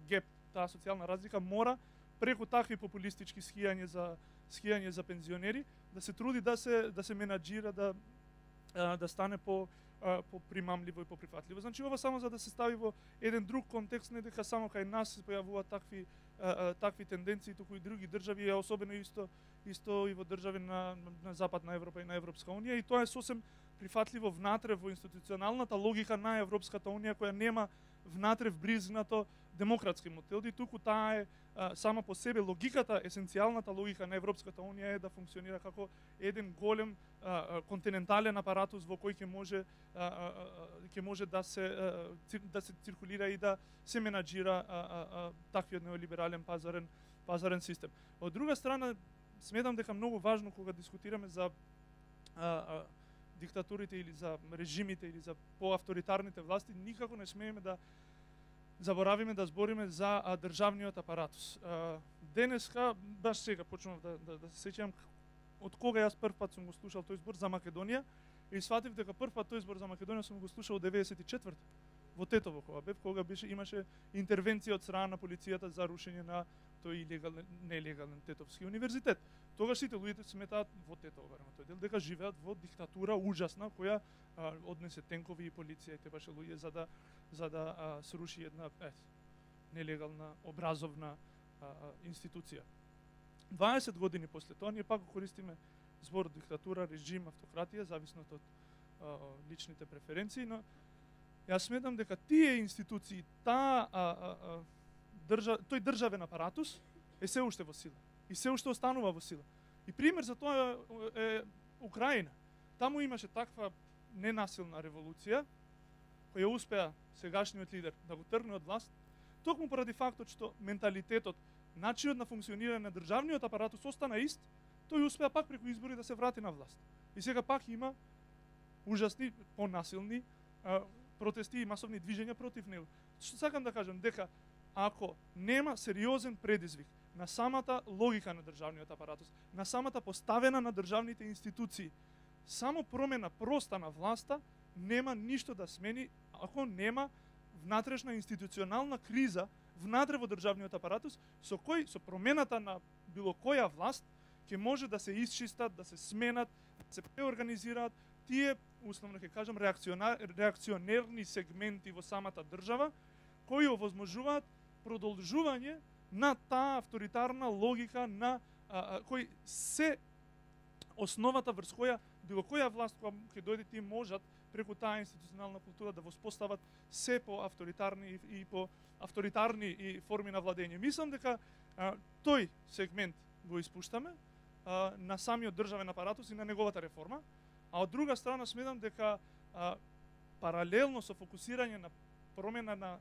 геп, таа социјална разлика мора преку такви популистички скијање за скијање за пензионери да се труди да се да се менаџира, да а, да стане по по примамливо и по прифатливо. Значи ова само за да се стави во еден друг контекст, не дека само кај нас се појавуваат такви а, а, такви тенденции, туку и други држави, а особено исто исто и во држави на, на Западна Европа и на Европска унија, и тоа е сосем прифатливо внатре во институционалната логика на Европската унија, која нема внатре вбризгнато демократски модел, и туку таа е а, сама по себе логиката, есенцијалната логика на Европската унија е да функционира како еден голем а, континентален апаратус во кој ќе може а, а, ќе може да се а, да се циркулира и да се менаџира а, а, а, таквиот неолиберален пазарен пазарен систем. Од друга страна, сметам дека многу важно кога дискутираме за а, а, диктатурите или за режимите или за поавторитарните власти, никако не смееме да заборавиме да збориме за а, државниот апаратус. А, денеска, баш сега почнав да, да, да се сеќавам од кога јас прв пат сум го слушал тој збор за Македонија, и сватив дека прв пат тој збор за Македонија сум го слушал од деветдесет и четврта во Тетово, кога бев, кога беше имаше интервенција од страна на полицијата за рушење на тој илегален, нелегален Тетовски универзитет. Тогаш сите луѓето сметаат во Тетово, барем тој дел, дека живеат во диктатура ужасна која а, однесе тенкови и полиција и требаше луѓе за да за да а, сруши една е, нелегална образовна а, а, институција. дваесет години после тоа ние пак го користиме зборот диктатура, режим, автократија, зависно од а, личните преференции, но јас сметам дека тие институции, таа а, а, а, држа, тој државен апаратус е се уште во сила и се уште останува во сила. И пример за тоа е, е Украина. Таму имаше таква ненасилна револуција која успеа сегашниот лидер да го тргне од власт, токму поради фактот што менталитетот, начинот на функционирање на државниот апаратус остана ист, тој успеа пак преку избори да се врати на власт. И сега пак има ужасни, понасилни а, протести и масовни движења против него. Што сакам да кажам, дека ако нема сериозен предизвик на самата логика на државниот апаратус, на самата поставена на државните институции, само промена проста на власта нема ништо да смени ако нема внатрешна институционална криза внатре во државниот апаратус, со кој со промената на било која власт ќе може да се исчистат, да се сменат, да се преорганизираат тие, условно ќе кажам, реакционерни сегменти во самата држава, кои овозможуваат продолжување на таа авторитарна логика на а, а, кој се основата врз која било која власт која ќе дојде, тие можат преку таа институционална култура да воспостават се по авторитарни и, и по авторитарни и форми на владење. Мислам дека а, тој сегмент го испуштаме а, на самиот државен апаратус и на неговата реформа, а од друга страна сметам дека а, паралелно со фокусирање на промена на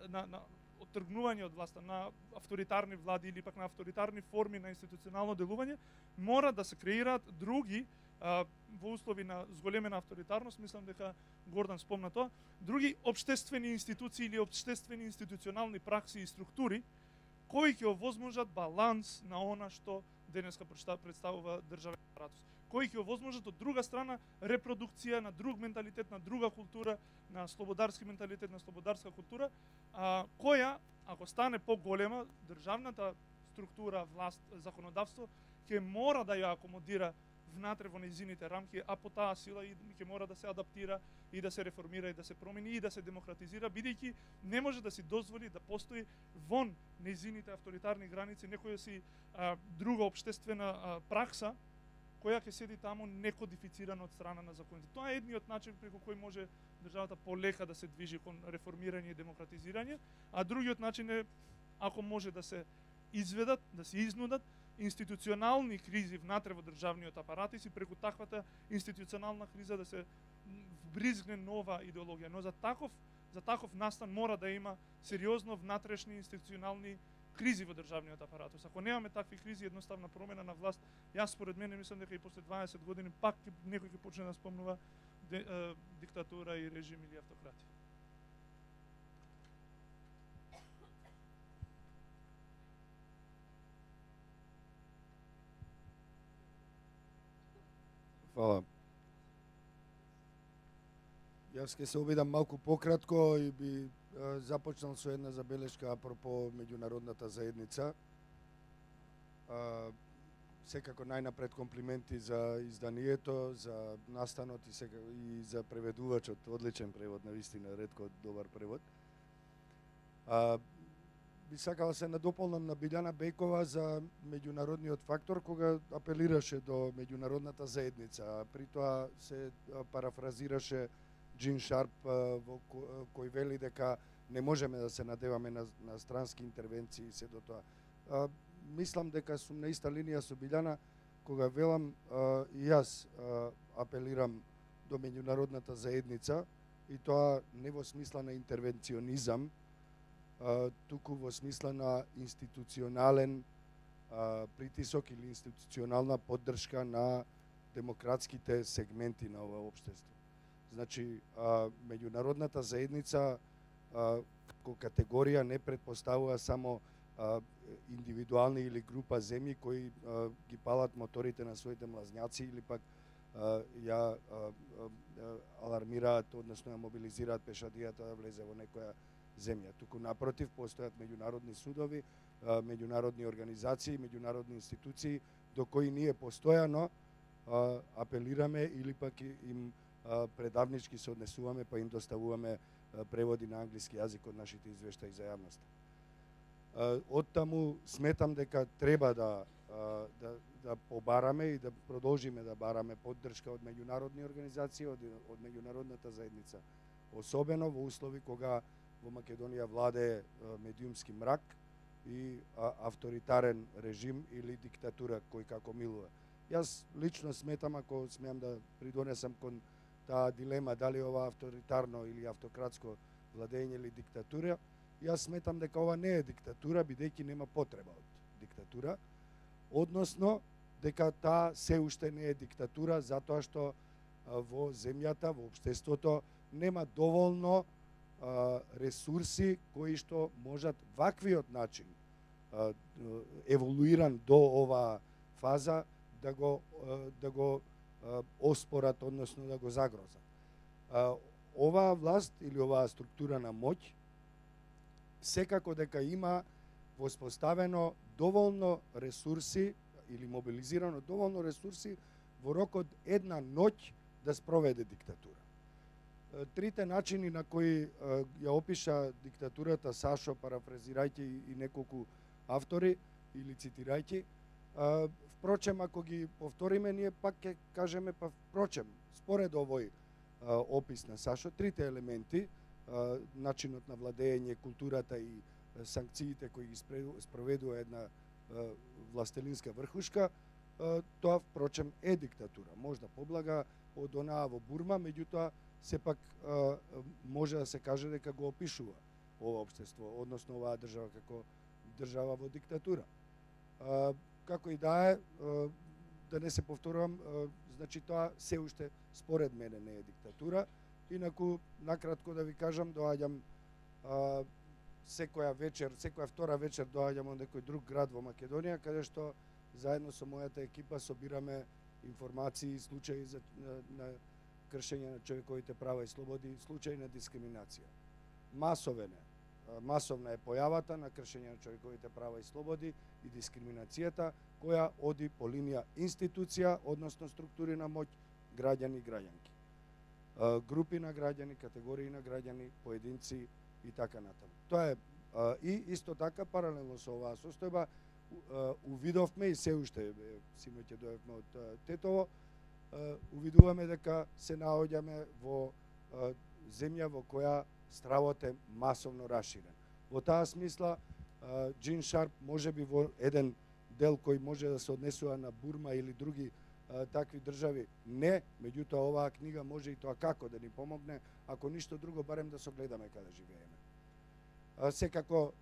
на, на оттргнување од власта на авторитарни влади или пак на авторитарни форми на институционално делување, мора да се креираат други а, во услови на зголемена авторитарност, мислам дека Гордан спомна тоа, други општествени институции или општествени институционални пракси и структури кои ќе овозможат баланс на она што денеска представува државен апаратус, кои ќе овозможат од друга страна репродукција на друг менталитет, на друга култура, на слободарски менталитет, на слободарска култура, а, која, ако стане поголема, државната структура, власт, законодавство, ќе мора да ја акомодира внатре во нејзините рамки, а по таа сила и ќе мора да се адаптира и да се реформира и да се промени и да се демократизира, бидејќи не може да си дозволи да постои вон нејзините авторитарни граници некоја си а, друга општествена а, пракса која ќе седи таму некодифицирана од страна на законите. Тоа е едниот начин преку кој може државата полека да се движи кон реформирање и демократизирање, а другиот начин е ако може да се изведат, да се изнудат институционални кризи внатре во државниот апарат и си преку таквата институционална криза да се вбризгне нова идеологија. Но за таков за таков настан мора да има сериозно внатрешни институционални кризи во државниот апаратус. Ако немаме такви кризи, едноставна промена на власт, јас според мене мислам дека и после дваесет години пак некој ќе почне да спомнува де, е, диктатура и режим или автократија. Фала. Јас ќе се обидам малку пократко и би а, започнал со една забелешка апропо меѓународната заедница. А, секако најнапред комплименти за изданието, за настанот и, сега, и за преведувачот, одличен превод, навистина, ретко добар превод. А, би сакала се надополнам на Билјана Бејкова за меѓународниот фактор, кога апелираше до меѓународната заедница, а при тоа се парафразираше Джин Шарп, во кој вели дека не можеме да се надеваме на, на странски интервенции и се до тоа. А, мислам дека сум на иста линија со Билјана, кога велам а, и јас а, апелирам до меѓународната заедница, и тоа не во смисла на интервенционизам, а, туку во смисла на институционален а, притисок или институционална поддршка на демократските сегменти на ова општество. Значи, а, меѓународната заедница а, како категорија не предпоставува само а, индивидуални или група земји кои а, ги палат моторите на своите млазњаци или пак а, ја а, а, алармираат, односно ја мобилизираат пешадијата да влезе во некоја земја. Туку напротив, постојат меѓународни судови, а, меѓународни организации, меѓународни институции до кои ние постојано а, апелираме или пак им а, предавнички се однесуваме, па им доставуваме а, преводи на англиски јазик од нашите извештаи за јавноста. Оттаму сметам дека треба да, да, да побараме и да продолжиме да бараме поддршка од меѓународни организации, од, од меѓународната заедница. Особено во услови кога во Македонија владее медиумски мрак и авторитарен режим или диктатура кој како милува. Јас лично сметам, ако смеам да придонесам кон таа дилема дали ова авторитарно или автократско владење или диктатура, јас сметам дека ова не е диктатура, бидејќи нема потреба од диктатура, односно дека таа се уште не е диктатура затоа што во земјата, во општеството нема доволно а, ресурси кои што можат ваквиот начин а, еволуиран до оваа фаза да го а, да го а, оспорат, односно да го загрозат. А, оваа власт или оваа структура на моќ секако дека има воспоставено доволно ресурси или мобилизирано доволно ресурси во рокот една ноќ да спроведе диктатура. Трите начини на кои ја опиша диктатурата Сашо, парафразирајќи и неколку автори или цитирајќи, впрочем, ако ги повториме, ние пак ќе кажеме, па впрочем, според овој опис на Сашо, трите елементи, начинот на владење, културата и санкциите кои ги спроведува една властелинска врхушка, тоа впрочем е диктатура. Можда поблага од онаа во Бурма, меѓутоа сепак може да се каже дека го опишува ова општество, односно оваа држава како држава во диктатура. Како и да е, да не се повторувам, значи тоа се уште според мене не е диктатура. Инаку, накратко да ви кажам, доаѓам а, секоја вечер, секоја втора вечер доаѓам од некој друг град во Македонија, каде што заедно со мојата екипа собираме информации и случаи за, на, на кршење на човековите права и слободи, случаи на дискриминација. Масовен е, масовна е појавата на кршење на човековите права и слободи и дискриминацијата, која оди по линија институција, односно структури на моќ, граѓани и граѓанки. Групи на граѓани, категории на граѓани, поединци и така натаму. Тоа е и исто така паралелно со оваа состојба увидовме и се уште синоќа дојавме од Тетово, увидуваме дека се наоѓаме во земја во која стравот е масовно расширен. Во таа смисла Джин Шарп можеби во еден дел кој може да се однесува на Бурма или други такви држави не, меѓутоа оваа книга може и тоа како да ни помогне, ако ништо друго барем да согледаме каде живееме. Секако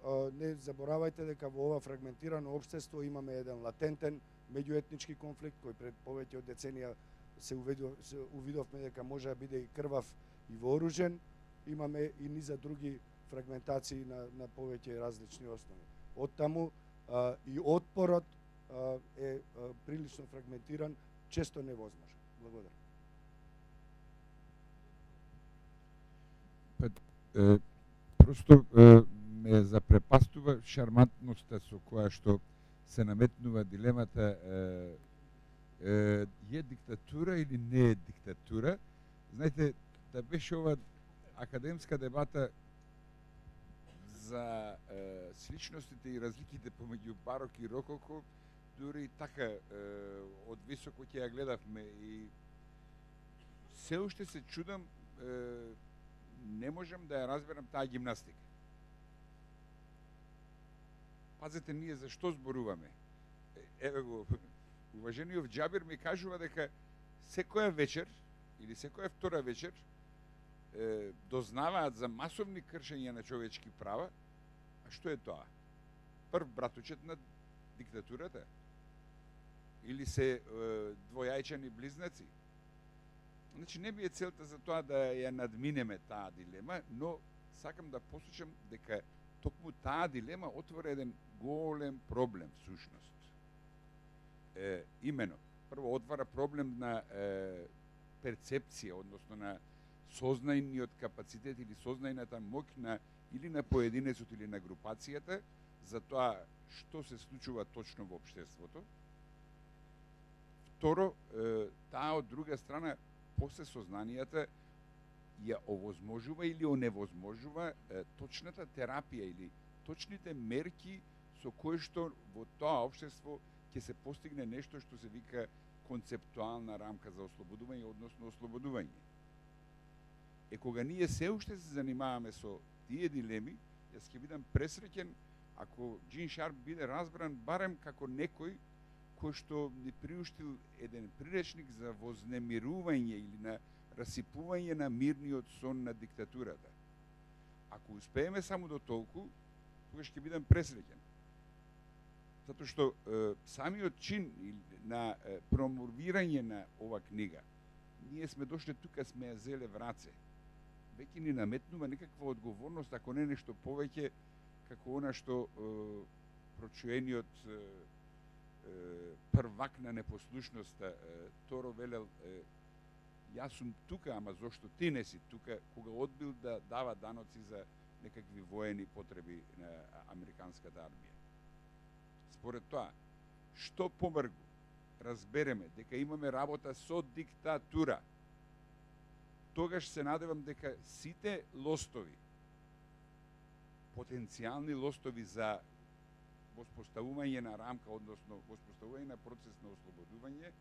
не заборавајте дека во ова фрагментирано општество имаме еден латентен меѓуетнички конфликт кој пред повеќе од деценија се, увидов, се увидовме дека може да биде и крвав и вооружен, имаме и низа други фрагментации на, на повеќе различни основи. Оттаму а, и отпорот а, е а, прилично фрагментиран, често невозможен. Благодарам. Па, е, просто е, ме запрепастува шармантноста со која што се наметнува дилемата е, е, е диктатура или не е диктатура. Знаете, да беше ова академска дебата за е, сличностите и разликите помеѓу барок и рококо, дури и така е, од високо ќе ја гледавме и се уште се чудам, е, не можам да ја разберам таа гимнастика. Пазете, ние за што зборуваме? Еве го, уважениот Џабир ми кажува дека секоја вечер или секоја втора вечер е, дознаваат за масовни кршења на човечки права. А што е тоа? Прв братучет на диктатурата? Или се е, двојајчани близнаци? Значи, не би е целта за тоа да ја надминеме таа дилема, но сакам да посочам дека токму таа дилема отвора еден голем проблем, всушност. Е, имено, прво отвара проблем на е, перцепција, односно на сознајниот капацитет или сознајната моќ на или на поединецот или на групацијата за тоа што се случува точно во општеството. Второ, е, таа од друга страна после сознанијата ја овозможува или оневозможува е, точната терапија или точните мерки со кои што во тоа општество ќе се постигне нешто што се вика концептуална рамка за ослободување, односно ослободување. Е, кога ние се уште се занимаваме со тие дилеми, јас ќе бидам пресреќен ако Джин Шарп биде разбран барем како некој кој што ни приуштил еден приречник за вознемирување или на расипување на мирниот сон на диктатурата. Ако успееме само до толку, тогаш ќе бидам пресреќен. Затоа што е, самиот чин на е, промовирање на ова книга, ние сме дошли тука, сме ја зеле в раце. Веќе ни наметнува некаква одговорност, ако не нешто повеќе, како она што е, прочуениот е, е, првак на непослушноста е, Торо велел, е, јас сум тука, ама зошто ти не си тука, кога одбил да дава даноци за некакви воени потреби на американската армија. Според тоа, што помргу разбереме дека имаме работа со диктатура, тогаш се надевам дека сите лостови, потенцијални лостови за воспоставување на рамка, односно воспоставување на процес на ослободување,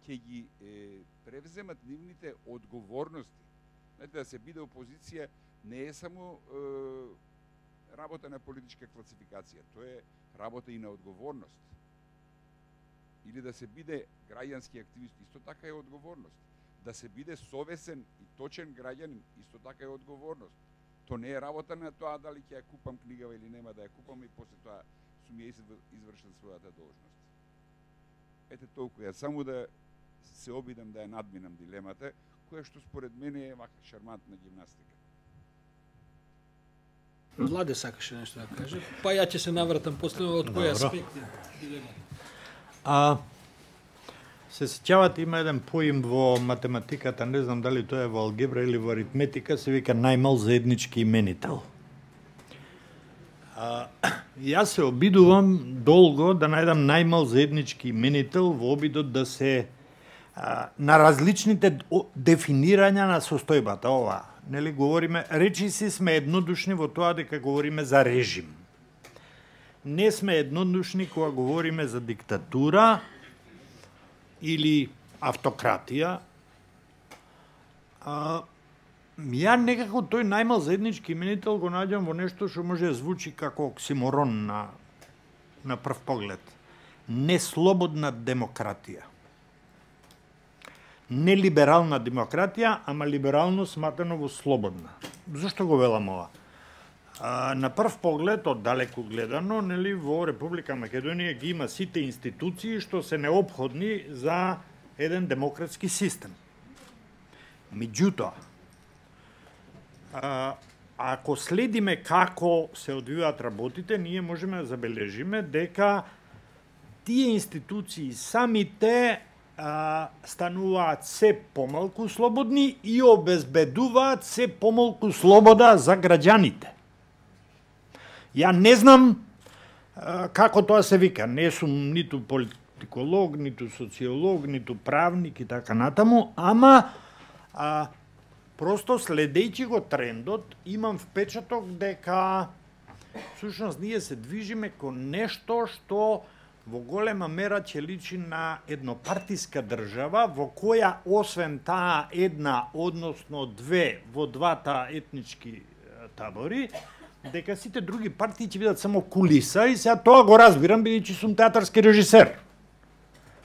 ќе ги е, превземат нивните одговорности. Знаете, да се биде опозиција не е само е, работа на политичка класификација, тоа е работа и на одговорност. Или да се биде граѓански активист, исто така е одговорност. Да се биде совесен и точен граѓанин, исто така е одговорност. То не е работа на тоа дали ќе ја купам книгава или нема да ја купам и после тоа сум ја извршил својата должност. Ете толку, ја само да се обидам да ја надминам дилемата, која што според мене е вака шармантна гимнастика. Владе сакаше нешто да каже, па ја ќе се навратам после од кој аспект дилемата. А се сеќавате, има еден поим во математиката, не знам дали тоа е во алгебра или во аритметика, се вика најмал заеднички именител. А, јас се обидувам долго да најдам најмал заеднички именител во обидот да се а, на различните дефинирања на состојбата. Ова, нели говориме, речи си сме еднодушни во тоа дека говориме за режим. Не сме еднодушни кога говориме за диктатура или автократија. А, ја некако тој најмал заеднички именител го наѓам во нешто што може да звучи како оксиморон на, на прв поглед. Неслободна демократија. Не либерална демократија, ама либерално сматено во слободна. Зошто го велам ова? А, на прв поглед, од далеку гледано, нели, во Република Македонија ги има сите институции што се неопходни за еден демократски систем. Меѓутоа, а, ако следиме како се одвиваат работите, ние можеме да забележиме дека тие институции самите а, стануваат се помалку слободни и обезбедуваат се помалку слобода за граѓаните. Ја не знам а, како тоа се вика, не сум ниту политиколог, ниту социолог, ниту правник и така натаму, ама а, просто следејќи го трендот, имам впечаток дека всушност ние се движиме кон нешто што во голема мера ќе личи на еднопартиска држава, во која освен таа една, односно две во двата етнички табори, дека сите други партии ќе бидат само кулиса, и сега тоа го разбирам, бидејќи сум театарски режисер.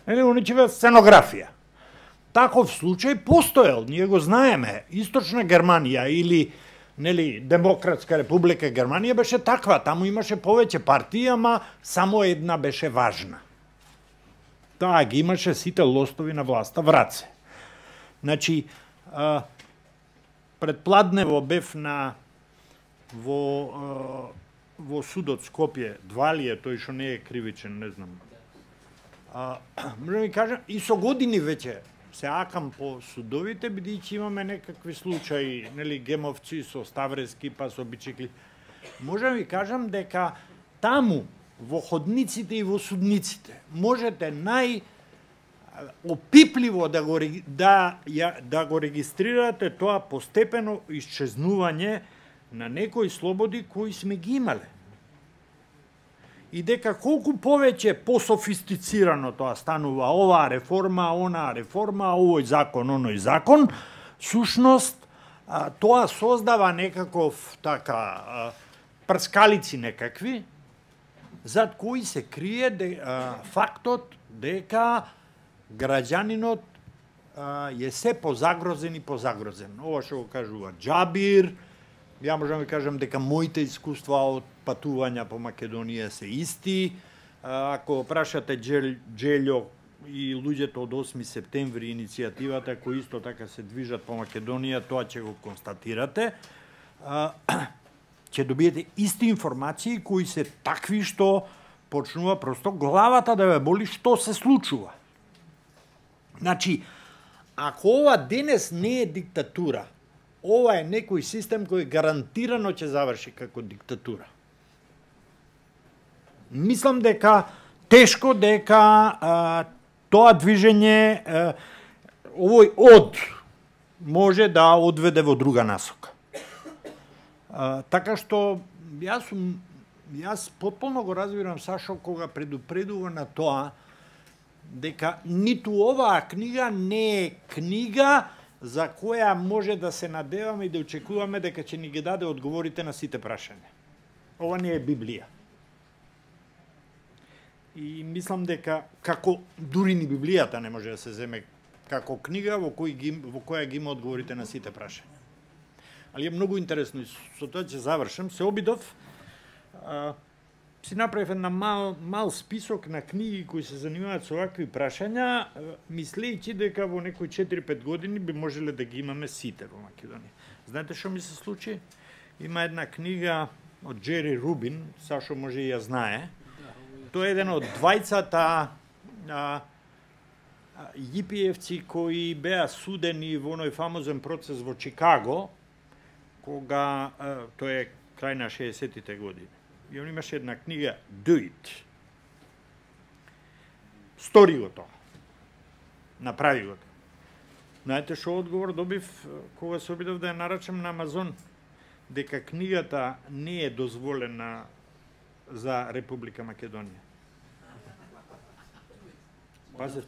Нели, они ќе бидат сценографија. Таков случај постоел, ние го знаеме. Источна Германија или нели Демократска република Германија беше таква, таму имаше повеќе партии, ама само една беше важна. Таа ги имаше сите лостови на власта в раце. Значи, а, предпладнево бев на во а, во судот Скопје, Двалије, тој што не е кривичен, не знам. А, можам ви кажам, и со години веќе се акам по судовите, бидејќи имаме некакви случаи, нели, гемовци со Ставрески, па со Бичикли. Можам ви кажам дека таму, во ходниците и во судниците, можете нај опипливо да го, да, да го регистрирате тоа постепено исчезнување на некои слободи кои сме ги имале. И дека колку повеќе пософистицирано тоа станува, оваа реформа, онаа реформа, овој закон, оној закон, сушност тоа создава некаков така прскалици некакви, зад кои се крие де, а, фактот дека граѓанинот а, е се позагрозен и позагрозен. Ова што го кажува Џабир, ја можам да кажам дека моите искуства од патувања по Македонија се исти. Ако прашате Джелјо и луѓето од осми септември иницијативата кои исто така се движат по Македонија, тоа ќе го констатирате. Ќе добиете исти информации кои се такви што почнува просто главата да ве боли што се случува. Значи, ако ова денес не е диктатура, ова е некој систем кој гарантирано ќе заврши како диктатура. Мислам дека тешко дека а, тоа движење, а, овој од, може да одведе во друга насока. А, така што јас сум, јас потполно го разбирам Сашо кога предупредува на тоа дека ниту оваа книга не е книга за која може да се надеваме и да очекуваме дека ќе ни ги даде одговорите на сите прашања. Ова не е Библија. И мислам дека како дури ни Библијата не може да се земе како книга во, кој ги, во која ги има одговорите на сите прашања. Али е многу интересно и со тоа ќе завршам. Се обидов, а, си направив една мал, мал список на книги кои се занимаваат со овакви прашања, мислејќи дека во некои четири-пет години би можеле да ги имаме сите во Македонија. Знаете што ми се случи? Има една книга од Джери Рубин, Сашо може и ја знае. Тој е еден од двајцата а, јипиевци кои беа судени во оној фамозен процес во Чикаго, кога а, тој е крај на шеесеттите години. И он имаше една книга Do It. Стори го тоа. Направи го тоа. Знаете што одговор добив кога се обидов да ја нарачам на Амазон? Дека книгата не е дозволена за Република Македонија. Пазе,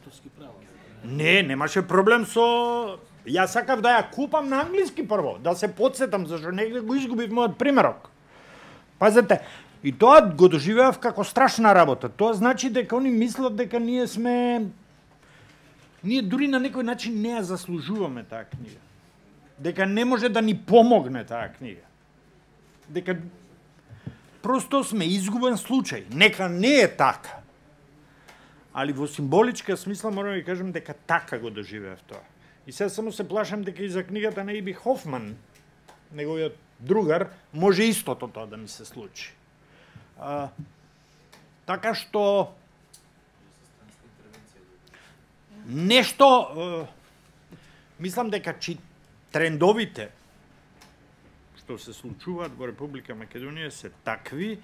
не, немаше проблем со... Јас сакав да ја купам на англиски прво, да се подсетам, зашто негде го изгубив мојот примерок. Пазете, и тоа го доживеав како страшна работа. Тоа значи дека они мислат дека ние сме... Ние дури на некој начин не ја заслужуваме таа книга. Дека не може да ни помогне таа книга. Дека просто сме изгубен случај. Нека не е така. Али во символичка смисла морам да ви кажам дека така го доживеав тоа. И сега само се плашам дека и за книгата на Иби Хофман, неговиот другар, може истото тоа да ми се случи. А, така што Нешто, е, мислам дека чи трендовите што се случуваат во Република Македонија се такви, е,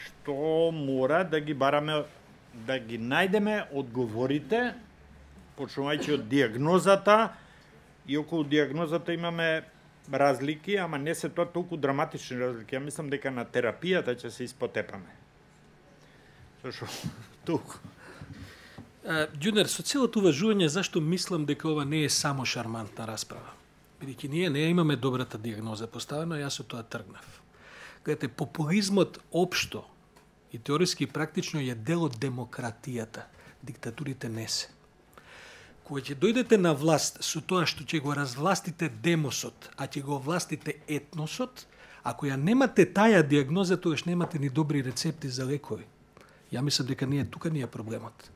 што мора да ги бараме, да ги најдеме одговорите, почнувајќи од диагнозата, и околу диагнозата имаме разлики, ама не се тоа толку драматични разлики. Ја мислам дека на терапијата ќе се испотепаме. Зашо толку? Ѓунер, со целото уважување, зашто мислам дека ова не е само шармантна расправа? Бидејќи ние не имаме добрата диагноза поставена, јас со тоа тргнав. Гледате, популизмот општо и теориски и практично е дел од демократијата. Диктатурите не се. Кога ќе дојдете на власт со тоа што ќе го развластите демосот, а ќе го властите етносот, ако ја немате таја диагноза, тогаш немате ни добри рецепти за лекови. Ја мислам дека ние тука ни е проблемот.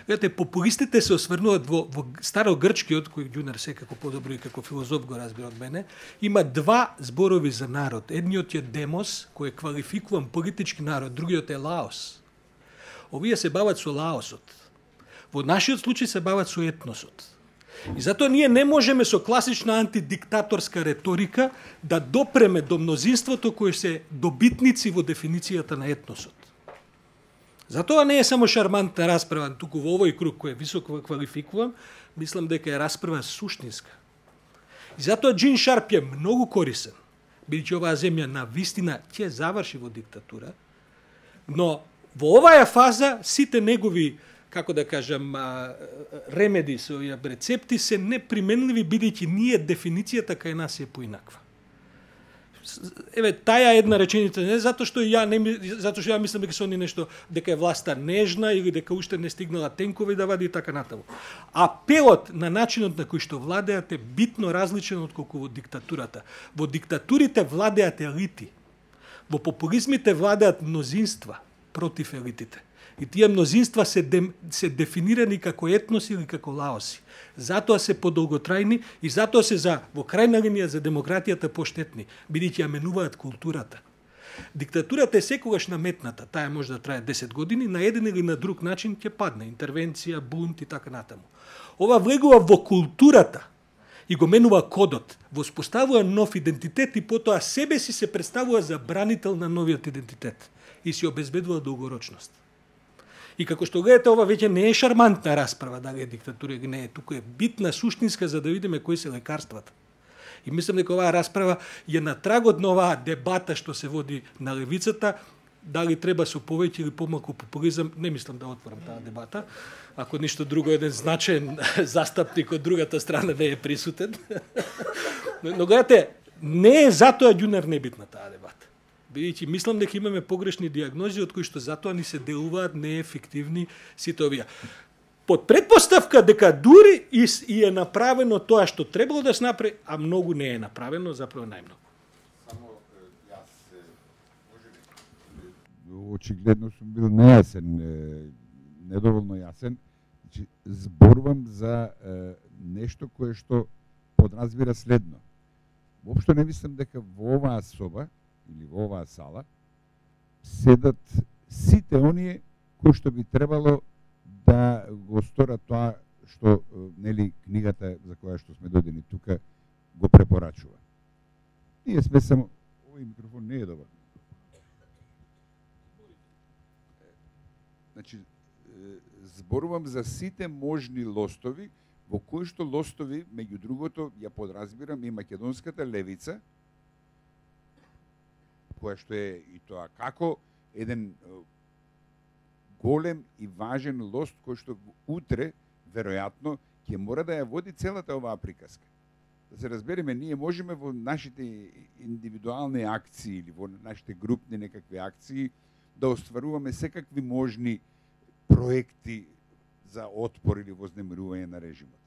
Гледате, популистите се осврнуваат во, во старогрчкиот, кој Ѓунер секако подобро и како филозоф го разбира од мене, има два зборови за народ. Едниот е демос, кој е квалификуван политички народ, другиот е лаос. Овие се бават со лаосот. Во нашиот случај се бават со етносот. И затоа ние не можеме со класична антидиктаторска реторика да допреме до мнозинството кои се добитници во дефиницијата на етносот. Затоа не е само шармантна расправа, туку во овој круг кој е високо квалификуван, мислам дека е расправа суштинска. И затоа Джин Шарп е многу корисен, бидејќи оваа земја на вистина ќе заврши во диктатура, но во оваа фаза сите негови, како да кажам, ремеди, со рецепти се неприменливи, бидејќи ние дефиницијата кај нас е поинаква. Еве, таја една реченица, не затоа што ја не затоа што ја мислам дека се они нешто, дека е власта нежна или дека уште не стигнала тенкови да вади и така натаму. Апелот на начинот на кој што владеат е битно различен од колку во диктатурата. Во диктатурите владеат елити. Во популизмите владеат мнозинства против елитите. И тие мнозинства се, де, се дефинирани како етноси или како лаоси. Затоа се подолготрајни и затоа се за во крајна линија за демократијата поштетни, бидејќи ја менуваат културата. Диктатурата е секогаш наметната, таа може да трае десет години, на еден или на друг начин ќе падне, интервенција, бунт и така натаму. Ова влегува во културата и го менува кодот, воспоставува нов идентитет и потоа себе си се представува за бранител на новиот идентитет и си обезбедува долгорочност. И како што гледате, ова веќе не е шармантна расправа, дали е диктатура или не е, туку е битна, суштинска, за да видиме кои се лекарствата. И мислам дека оваа расправа е на трагот на оваа дебата што се води на левицата, дали треба со повеќе или помалку популизам, не мислам да отворам таа дебата, ако ништо друго, еден значаен застапник од другата страна не е присутен. Но гледате, не е затоа Ѓунер небитна таа дебата. Бидејќи мислам дека имаме погрешни диагнози од кои што затоа ни се делуваат неефективни сите овие. Под предпоставка дека дури и, и е направено тоа што требало да се направи, а многу не е направено, заправо најмногу. Само јас можеби очигледно сум бил нејасен, недоволно јасен. Значи, зборувам за е, нешто кое што подразбира следно. Воопшто не мислам дека во оваа соба или во оваа сала седат сите оние кои што би требало да го сторат тоа што нели книгата за која што сме додени тука го препорачува. Ние сме само овој микрофон не е добар. Значи зборувам за сите можни лостови во кои што лостови меѓу другото ја подразбирам и македонската левица, која што е и тоа како еден голем и важен лост кој што утре веројатно ќе мора да ја води целата оваа приказка. Да се разбереме, ние можеме во нашите индивидуални акции или во нашите групни некакви акции да остваруваме секакви можни проекти за отпор или вознемирување на режимот.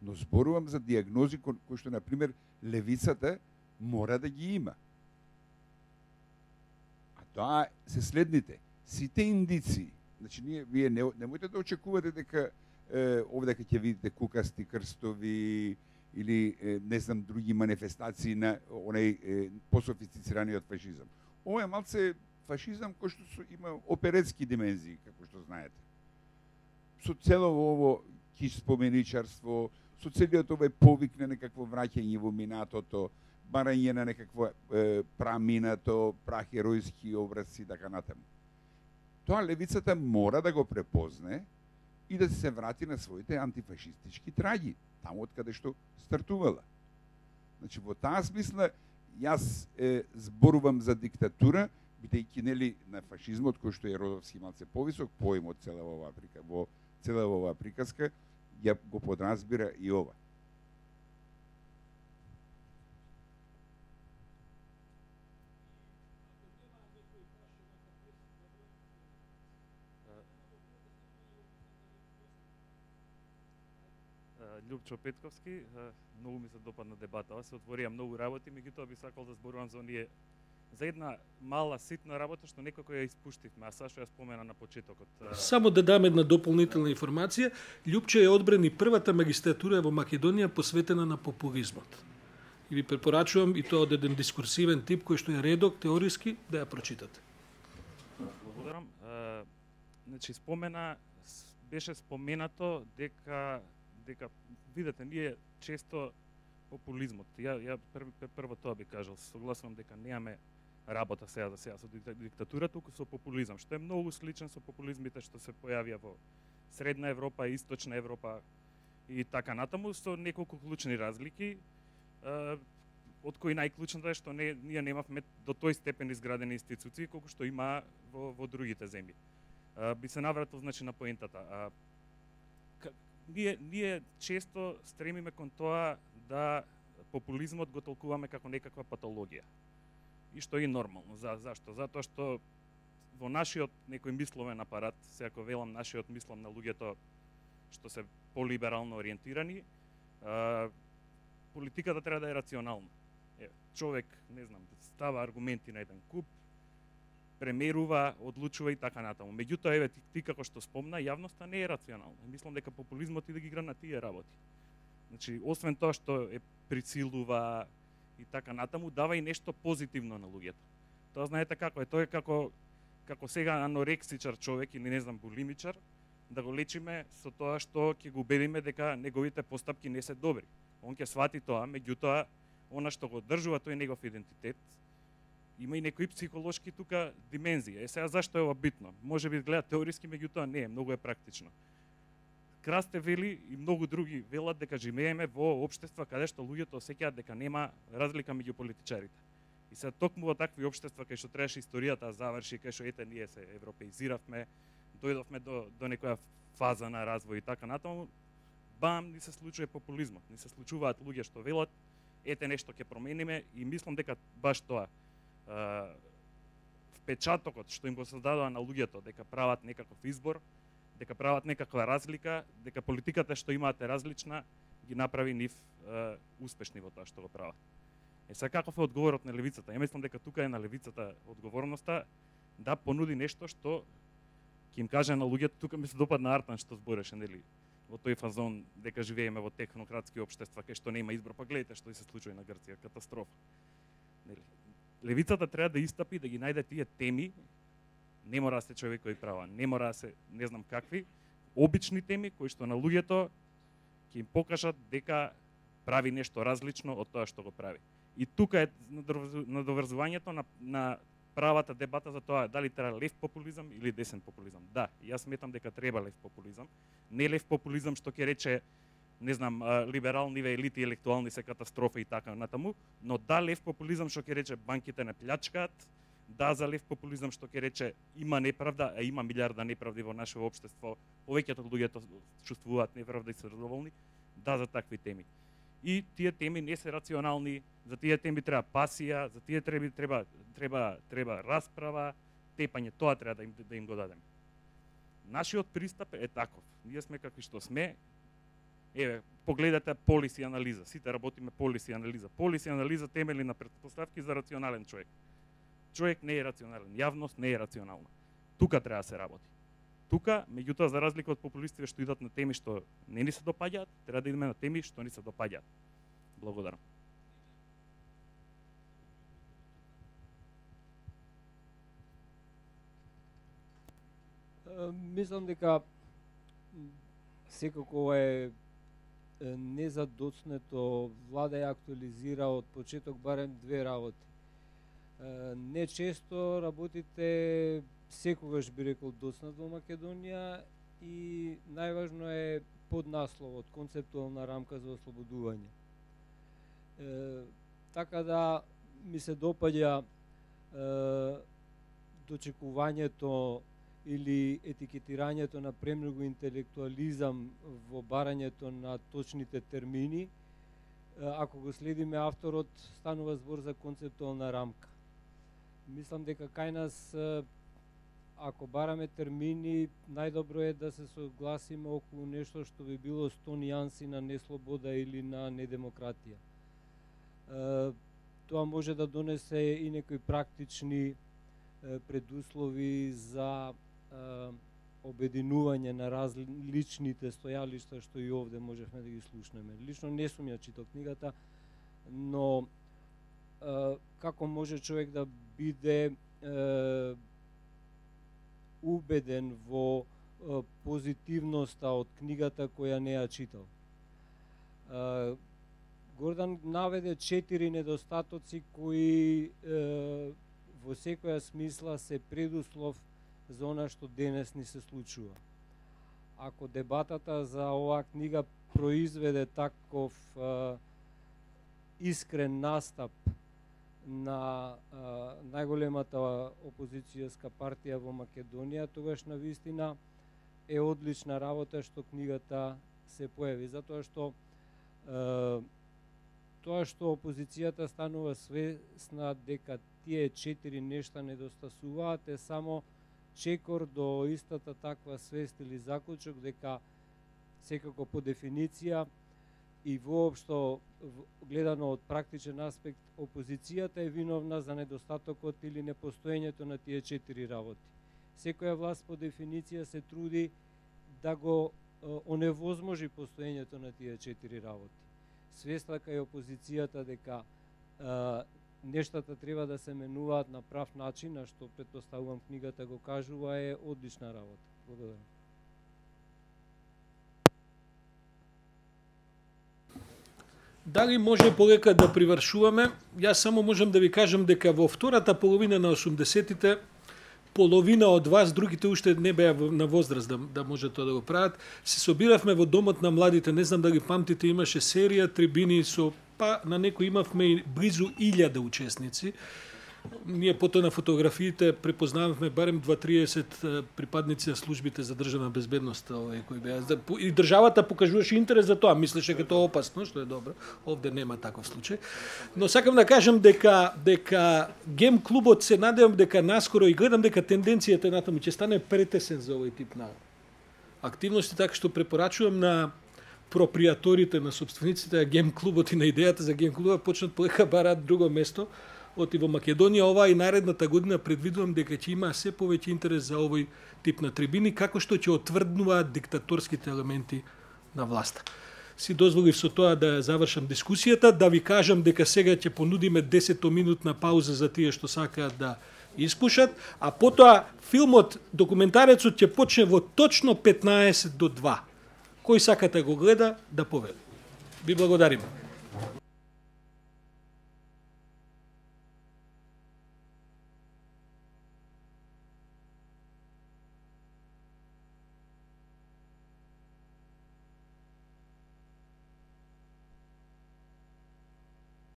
Но зборувам за диагнози кои што, на пример, левицата мора да ги има. Тоа се следните. Сите индици, значи ние вие не немојте да очекувате дека е, овде ќе видите кукасти крстови или е, не знам други манифестации на онај е, пософистицираниот фашизам. Ова е малце фашизам кој што има оперетски димензии, како што знаете. со целово ово киш споменичарство, со целиот овој повик на некакво враќање во минатото, барање на некакво е, праминато, прахеројски образци и така натаму. Тоа левицата мора да го препозне и да се врати на своите антифашистички траги, таму од каде што стартувала. Значи, во таа смисла, јас е, зборувам за диктатура, бидејќи нели на фашизмот, кој што е Родовски малце повисок поим од цела оваа прика, во цела оваа приказка, ја го подразбира и ова. Љупчо Петковски, многу ми се допадна дебата. Се отворија многу работи, меѓутоа би сакал да зборувам за оние за една мала ситна работа што некако ја испуштивме, а Сашо ја спомена на почетокот. Само да дам една дополнителна информација, Љупчо ја одбрани првата магистратура во Македонија посветена на популизмот. И ви препорачувам и тоа од еден дискурсивен тип кој што е редок, теориски, да ја прочитате. Благодарам. А, значи спомена беше споменато дека дека видете ние често популизмот. Ја ја прв, прво тоа би кажал, согласувам дека немаме работа сега за сега со диктатура, туку со популизам, што е многу сличен со популизмите што се појавија во Средна Европа, Источна Европа и така натаму, со неколку клучни разлики, од кои најклучната е што не, ние немавме до тој степен изградени институции колку што има во, во другите земји. Би се навратил значи на поентата. А, ние, ние често стремиме кон тоа да популизмот го толкуваме како некаква патологија. И што е нормално. За, зашто? Затоа што во нашиот некој мисловен апарат, се ако велам нашиот, мислам на луѓето што се полиберално ориентирани, а, политиката треба да е рационална. Е, човек, не знам, става аргументи на еден куп, премерува, одлучува и така натаму. Меѓутоа, еве, ти, ти како што спомна, јавноста не е рационална. Мислам дека популизмот и да ги игра на тие работи. Значи, освен тоа што е прицилува и така натаму, дава и нешто позитивно на луѓето. Тоа знаете како е, тоа е како како сега анорексичар човек или не знам булимичар, да го лечиме со тоа што ќе го убедиме дека неговите постапки не се добри. Он ќе свати тоа, меѓутоа она што го одржува тој негов идентитет, има и некои психолошки тука димензија. Е сега зашто е ова битно? Може би гледа теориски, меѓутоа не е, многу е практично. Красте вели и многу други велат дека живееме во општества каде што луѓето осеќаат дека нема разлика меѓу политичарите. И се токму во такви општества кај што требаше историјата да заврши, кај што ете ние се европеизиравме, дојдовме до до некоја фаза на развој и така натаму, бам, ни се случува популизмот, ни се случуваат луѓе што велат ете нешто ќе промениме и мислам дека баш тоа Uh, впечатокот што им го создадува на луѓето дека прават некаков избор, дека прават некаква разлика, дека политиката што имаате различна ги направи нив uh, успешни во тоа што го прават. Е сега каков е одговорот на левицата? Ја мислам дека тука е на левицата одговорноста да понуди нешто што ќе им каже на луѓето, тука ми се допадна Артан што збореше, нели, во тој фазон дека живееме во технократски општества кај што нема избор, па гледате што се случува на Грција, катастрофа. Нели? Левицата треба да истапи, да ги најде тие теми, не мора да се човекови права, не мора да се не знам какви, обични теми кои што на луѓето ќе им покажат дека прави нешто различно од тоа што го прави. И тука е надоврзувањето на, на правата дебата за тоа дали треба лев популизам или десен популизам. Да, јас сметам дека треба лев популизам, не лев популизам што ќе рече не знам, либералниве елити електуални се катастрофа и така натаму, но да лев популизам што ќе рече банките не плячкаат, да за лев популизам што ќе рече има неправда, а има милиарда неправди во нашето општество, повеќето од луѓето чувствуваат неправда и се задоволни, да за такви теми. И тие теми не се рационални, за тие теми треба пасија, за тие треба треба треба треба расправа, тепање, тоа треба да им да им го дадеме. Нашиот пристап е таков. Ние сме какви што сме. Еве, погледате полиси анализа, сите работиме полиси анализа. Полиси анализа темели на претпоставки за рационален човек. Човек не е рационален, јавност не е рационална. Тука треба да се работи. Тука, меѓутоа, за разлика од популистите што идат на теми што не ни се допаѓаат, треба да идеме на теми што ни се допаѓаат. Благодарам. Мислам дека секако е незадоцнето, влада ја актуализира од почеток барем две работи. Не често работите секогаш би рекол доцнат во Македонија и најважно е поднасловот, концептуална рамка за ослободување. Е, така да ми се допаѓа е, дочекувањето или етикетирањето на премногу интелектуализам во барањето на точните термини. Ако го следиме авторот, станува збор за концептуална рамка. Мислам дека кај нас, ако бараме термини, најдобро е да се согласиме околу нешто што би било сто нијанси на неслобода или на недемократија. Тоа може да донесе и некои практични предуслови за обединување на различните стојалишта што и овде можевме да ги слушнеме. Лично не сум ја читал книгата, но е, како може човек да биде е, убеден во е, позитивноста од книгата која не ја читал? Е, Гордан наведе четири недостатоци кои е, во секоја смисла се предуслов за она што денес ни се случува. Ако дебатата за оваа книга произведе таков е, искрен настап на е, најголемата опозицијска партија во Македонија, тогаш на вистина е одлична работа што книгата се појави, затоа што е, тоа што опозицијата станува свесна дека тие четири нешта недостасуваат е само чекор до истата таква свест или заклучок дека секако по дефиниција и воопшто гледано од практичен аспект опозицијата е виновна за недостатокот или непостоењето на тие четири работи. Секоја власт по дефиниција се труди да го оневозможи постоењето на тие четири работи. Свесна кај опозицијата дека е, нештата треба да се менуваат на прав начин, а што претпоставувам книгата го кажува, е одлична работа. Благодарам. Дали може полека да привршуваме? Јас само можам да ви кажам дека во втората половина на осумдесетите половина од вас, другите уште не беа на возраст да, да може тоа да го прават, се собиравме во домот на младите, не знам дали памтите, имаше серија трибини со, па на некој имавме и близу илјада учесници. Ние потоа на фотографиите препознававме барем дваесет припадници на службите за државна безбедност, овој кои беа. И државата покажуваше интерес за тоа, мислеше дека тоа е опасно, што е добро. Овде нема таков случај. Но сакам да кажам дека дека гем клубот се надевам дека наскоро и гледам дека тенденцијата натаму ќе стане претесен за овој тип на активности, така што препорачувам на пропријаторите, на собствениците на гем клубот и на идејата за гем клубот почнат полека бараат друго место. Оти во Македонија ова и наредната година предвидувам дека ќе има се повеќе интерес за овој тип на трибини, како што ќе отврднуваат диктаторските елементи на власта. Си дозволив со тоа да завршам дискусијата, да ви кажам дека сега ќе понудиме десетоминутна пауза за тие што сакаат да испушат, а потоа филмот, документарецот ќе почне во точно петнаесет до два. Кој сака да го гледа, да повели. Ви благодариме.